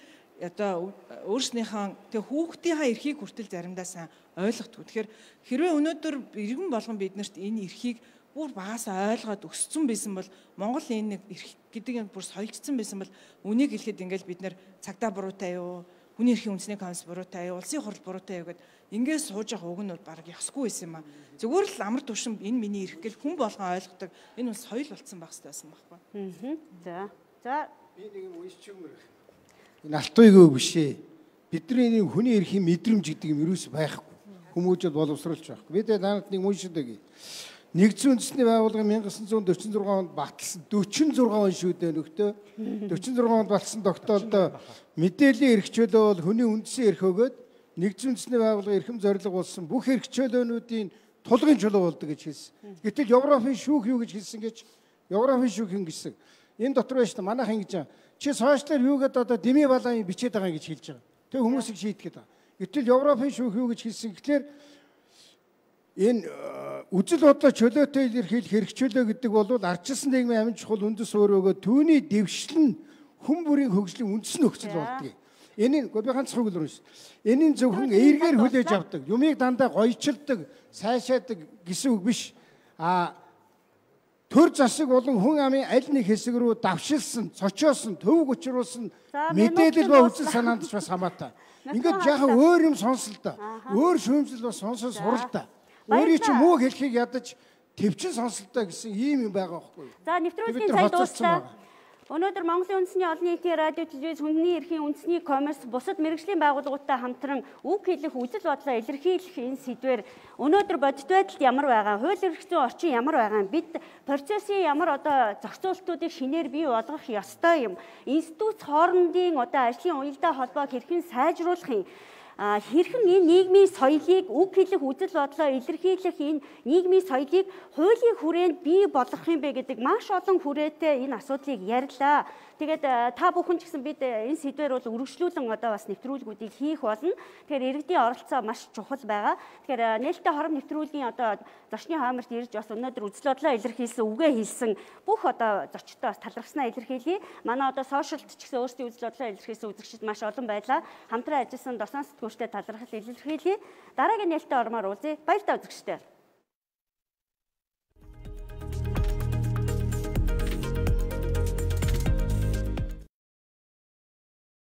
одоо өөрснийхөө тэг хүүхдийнхээ эрхийг хүртэл заримдаа сайн ойлгохгүй. Тэгэхээр хэрвээ өнөөдөр иргэн болгон биднэрт энэ эрхийг бүр багасаа ойлгоод өссөн байсан бол Монгол энэ нэг эрх гэдэг нь бүр соёлжсон байсан бол үнийг хэлэхэд ингээл бид нэр цагдаа буруутай юу, хүний эрхийн үндэсний комисс буруутай юу, улсын хурл буруутай юу гэд ингээд сууж явах үг нь бол баг ясгүй байсан юм аа. Зүгээр л амар түвшин энэ миний эрх гэл хүн болгон ойлгодог. Энэ бол соёл болцсон байх хэрэгтэй байсан байхгүй. Аа. За. За би нэг юм уншиж өгмөр. Энэ алтуйгөө биш ээ. Бидний нэг хүний эрхийн мэдрэмж гэдэг юм ерөөс байхгүй. Хүмүүжил боловсруулж байхгүй. Бид танад нэг уншиж өгье. Нэгдсэн үндэсний байгууллага 천구 дөрвөн зургаан онд баталсан дөрвөн зургаан он шүү дээ нөхдөө. дөрвөн зургаан онд баталсан тогтоолдоо мэдээллийн эрх чөлөө бол хүний үндэсний эрх өгөөд нэгдсэн үндэсний байгууллага эрхэм зорилго болсон бүх эрх чөлөөнүүдийн тулгын чөлөө болдог гэж хэлсэн. Гэтэл Европын шүүх юу гэж хэлсэн гэж Европын шүүх юм гэсэн. Энэ дотор байж та манайх ингэж чи сошиалар юу гэдэг одоо дэмий балааны бичээд байгаа гэж хэлж байгаа. Тэг хүмүүсийг шийтгэхэд байгаа. Гэтэл Европын шүүх юу гэж хэлсэн гэхээр энэ үзэл бодлоо чөлөөтэй илэрхийлэх хэрэг чөлөө гэдэг бол ардчилсан нийгмийн амин чухал үндэс өөрөөгөө түүний дэвшил нь хүн бүрийн хөгжлийн үндэс нөхцөл болдгийг. Энийг би ганцхан үг л уншсан. Энийн зөвхөн эергээр хүлээж авдаг, юмыг дандаа гоёчилдаг, сайшаадаг гэсэн үг биш. А төр засаг болон хүн амын аль нэг хэсэг рүү давшилсан, цочоосон, төвөг учруулсан мэдээлэл ба үзэл санаанд ч бас хамаатай. Ингээд яхаа өөр юм сонслоо та. Өөр шүүмжил бас сонсож сурал та. Өөрийн чи муу хэлхийг ядаж төвчин сонслоо гэсэн ийм юм байгаа байхгүй юу? За нэвтрүүлгийн цай дууссан. Өнөөдөр Монголын үндэсний олон нийтийн радио телевиз хүний эрхийн үндэсний комисс бусад мэргэжлийн байгууллагуудтай хамтран үг хэлэх үзэл бодлоо илэрхийлэх энэ сэдвээр өнөөдөр бодит байдалд ямар байгаа, хууль эрх зүйн орчин ямар байгаа, бид процессын ямар одоо зохицуултуудыг шинээр бий болгох ёстой юм. Институт хоорондын одоо ажлын уялдаа холбоог хэрхэн сайжруулах юм? Хэрхэн энэ нийгмийн соёлыг үг хэлэх үзэл бодлоо илэрхийлэх энэ нийгмийн соёлыг хуулийн хүрээнд бий болгох юм бэ гэдэг маш олон хүрээтэй энэ асуудлыг ярьлаа. Тэгээд та бүхэн ч гэсэн бид энэ сэдвээр бол үргэлжлүүлэн одоо бас нэвтрүүлгүүдийг хийх болно. Тэгэхээр иргэдийн оролцоо маш чухал байгаа. Тэгэхээр нээлттэй хором нэвтрүүлгийн одоо зочны хаамарт ирж бас өнөөдөр үзэл бодлоо илэрхийлсэн, үгээ хэлсэн бүх одоо зочдтой бас талархснаа илэрхийлье. Манай одоо сошиалд ч гэсэн өөрсдийн үзэл бодлоо илэрхийлсэн үзэгчид маш олон байлаа. Хамтран ажилласан Досон сэтгүүлчтэй талархал илэрхийлье. Дараагийн нээлттэй ормоор уулзъя. Баяр та үзэгчдээ.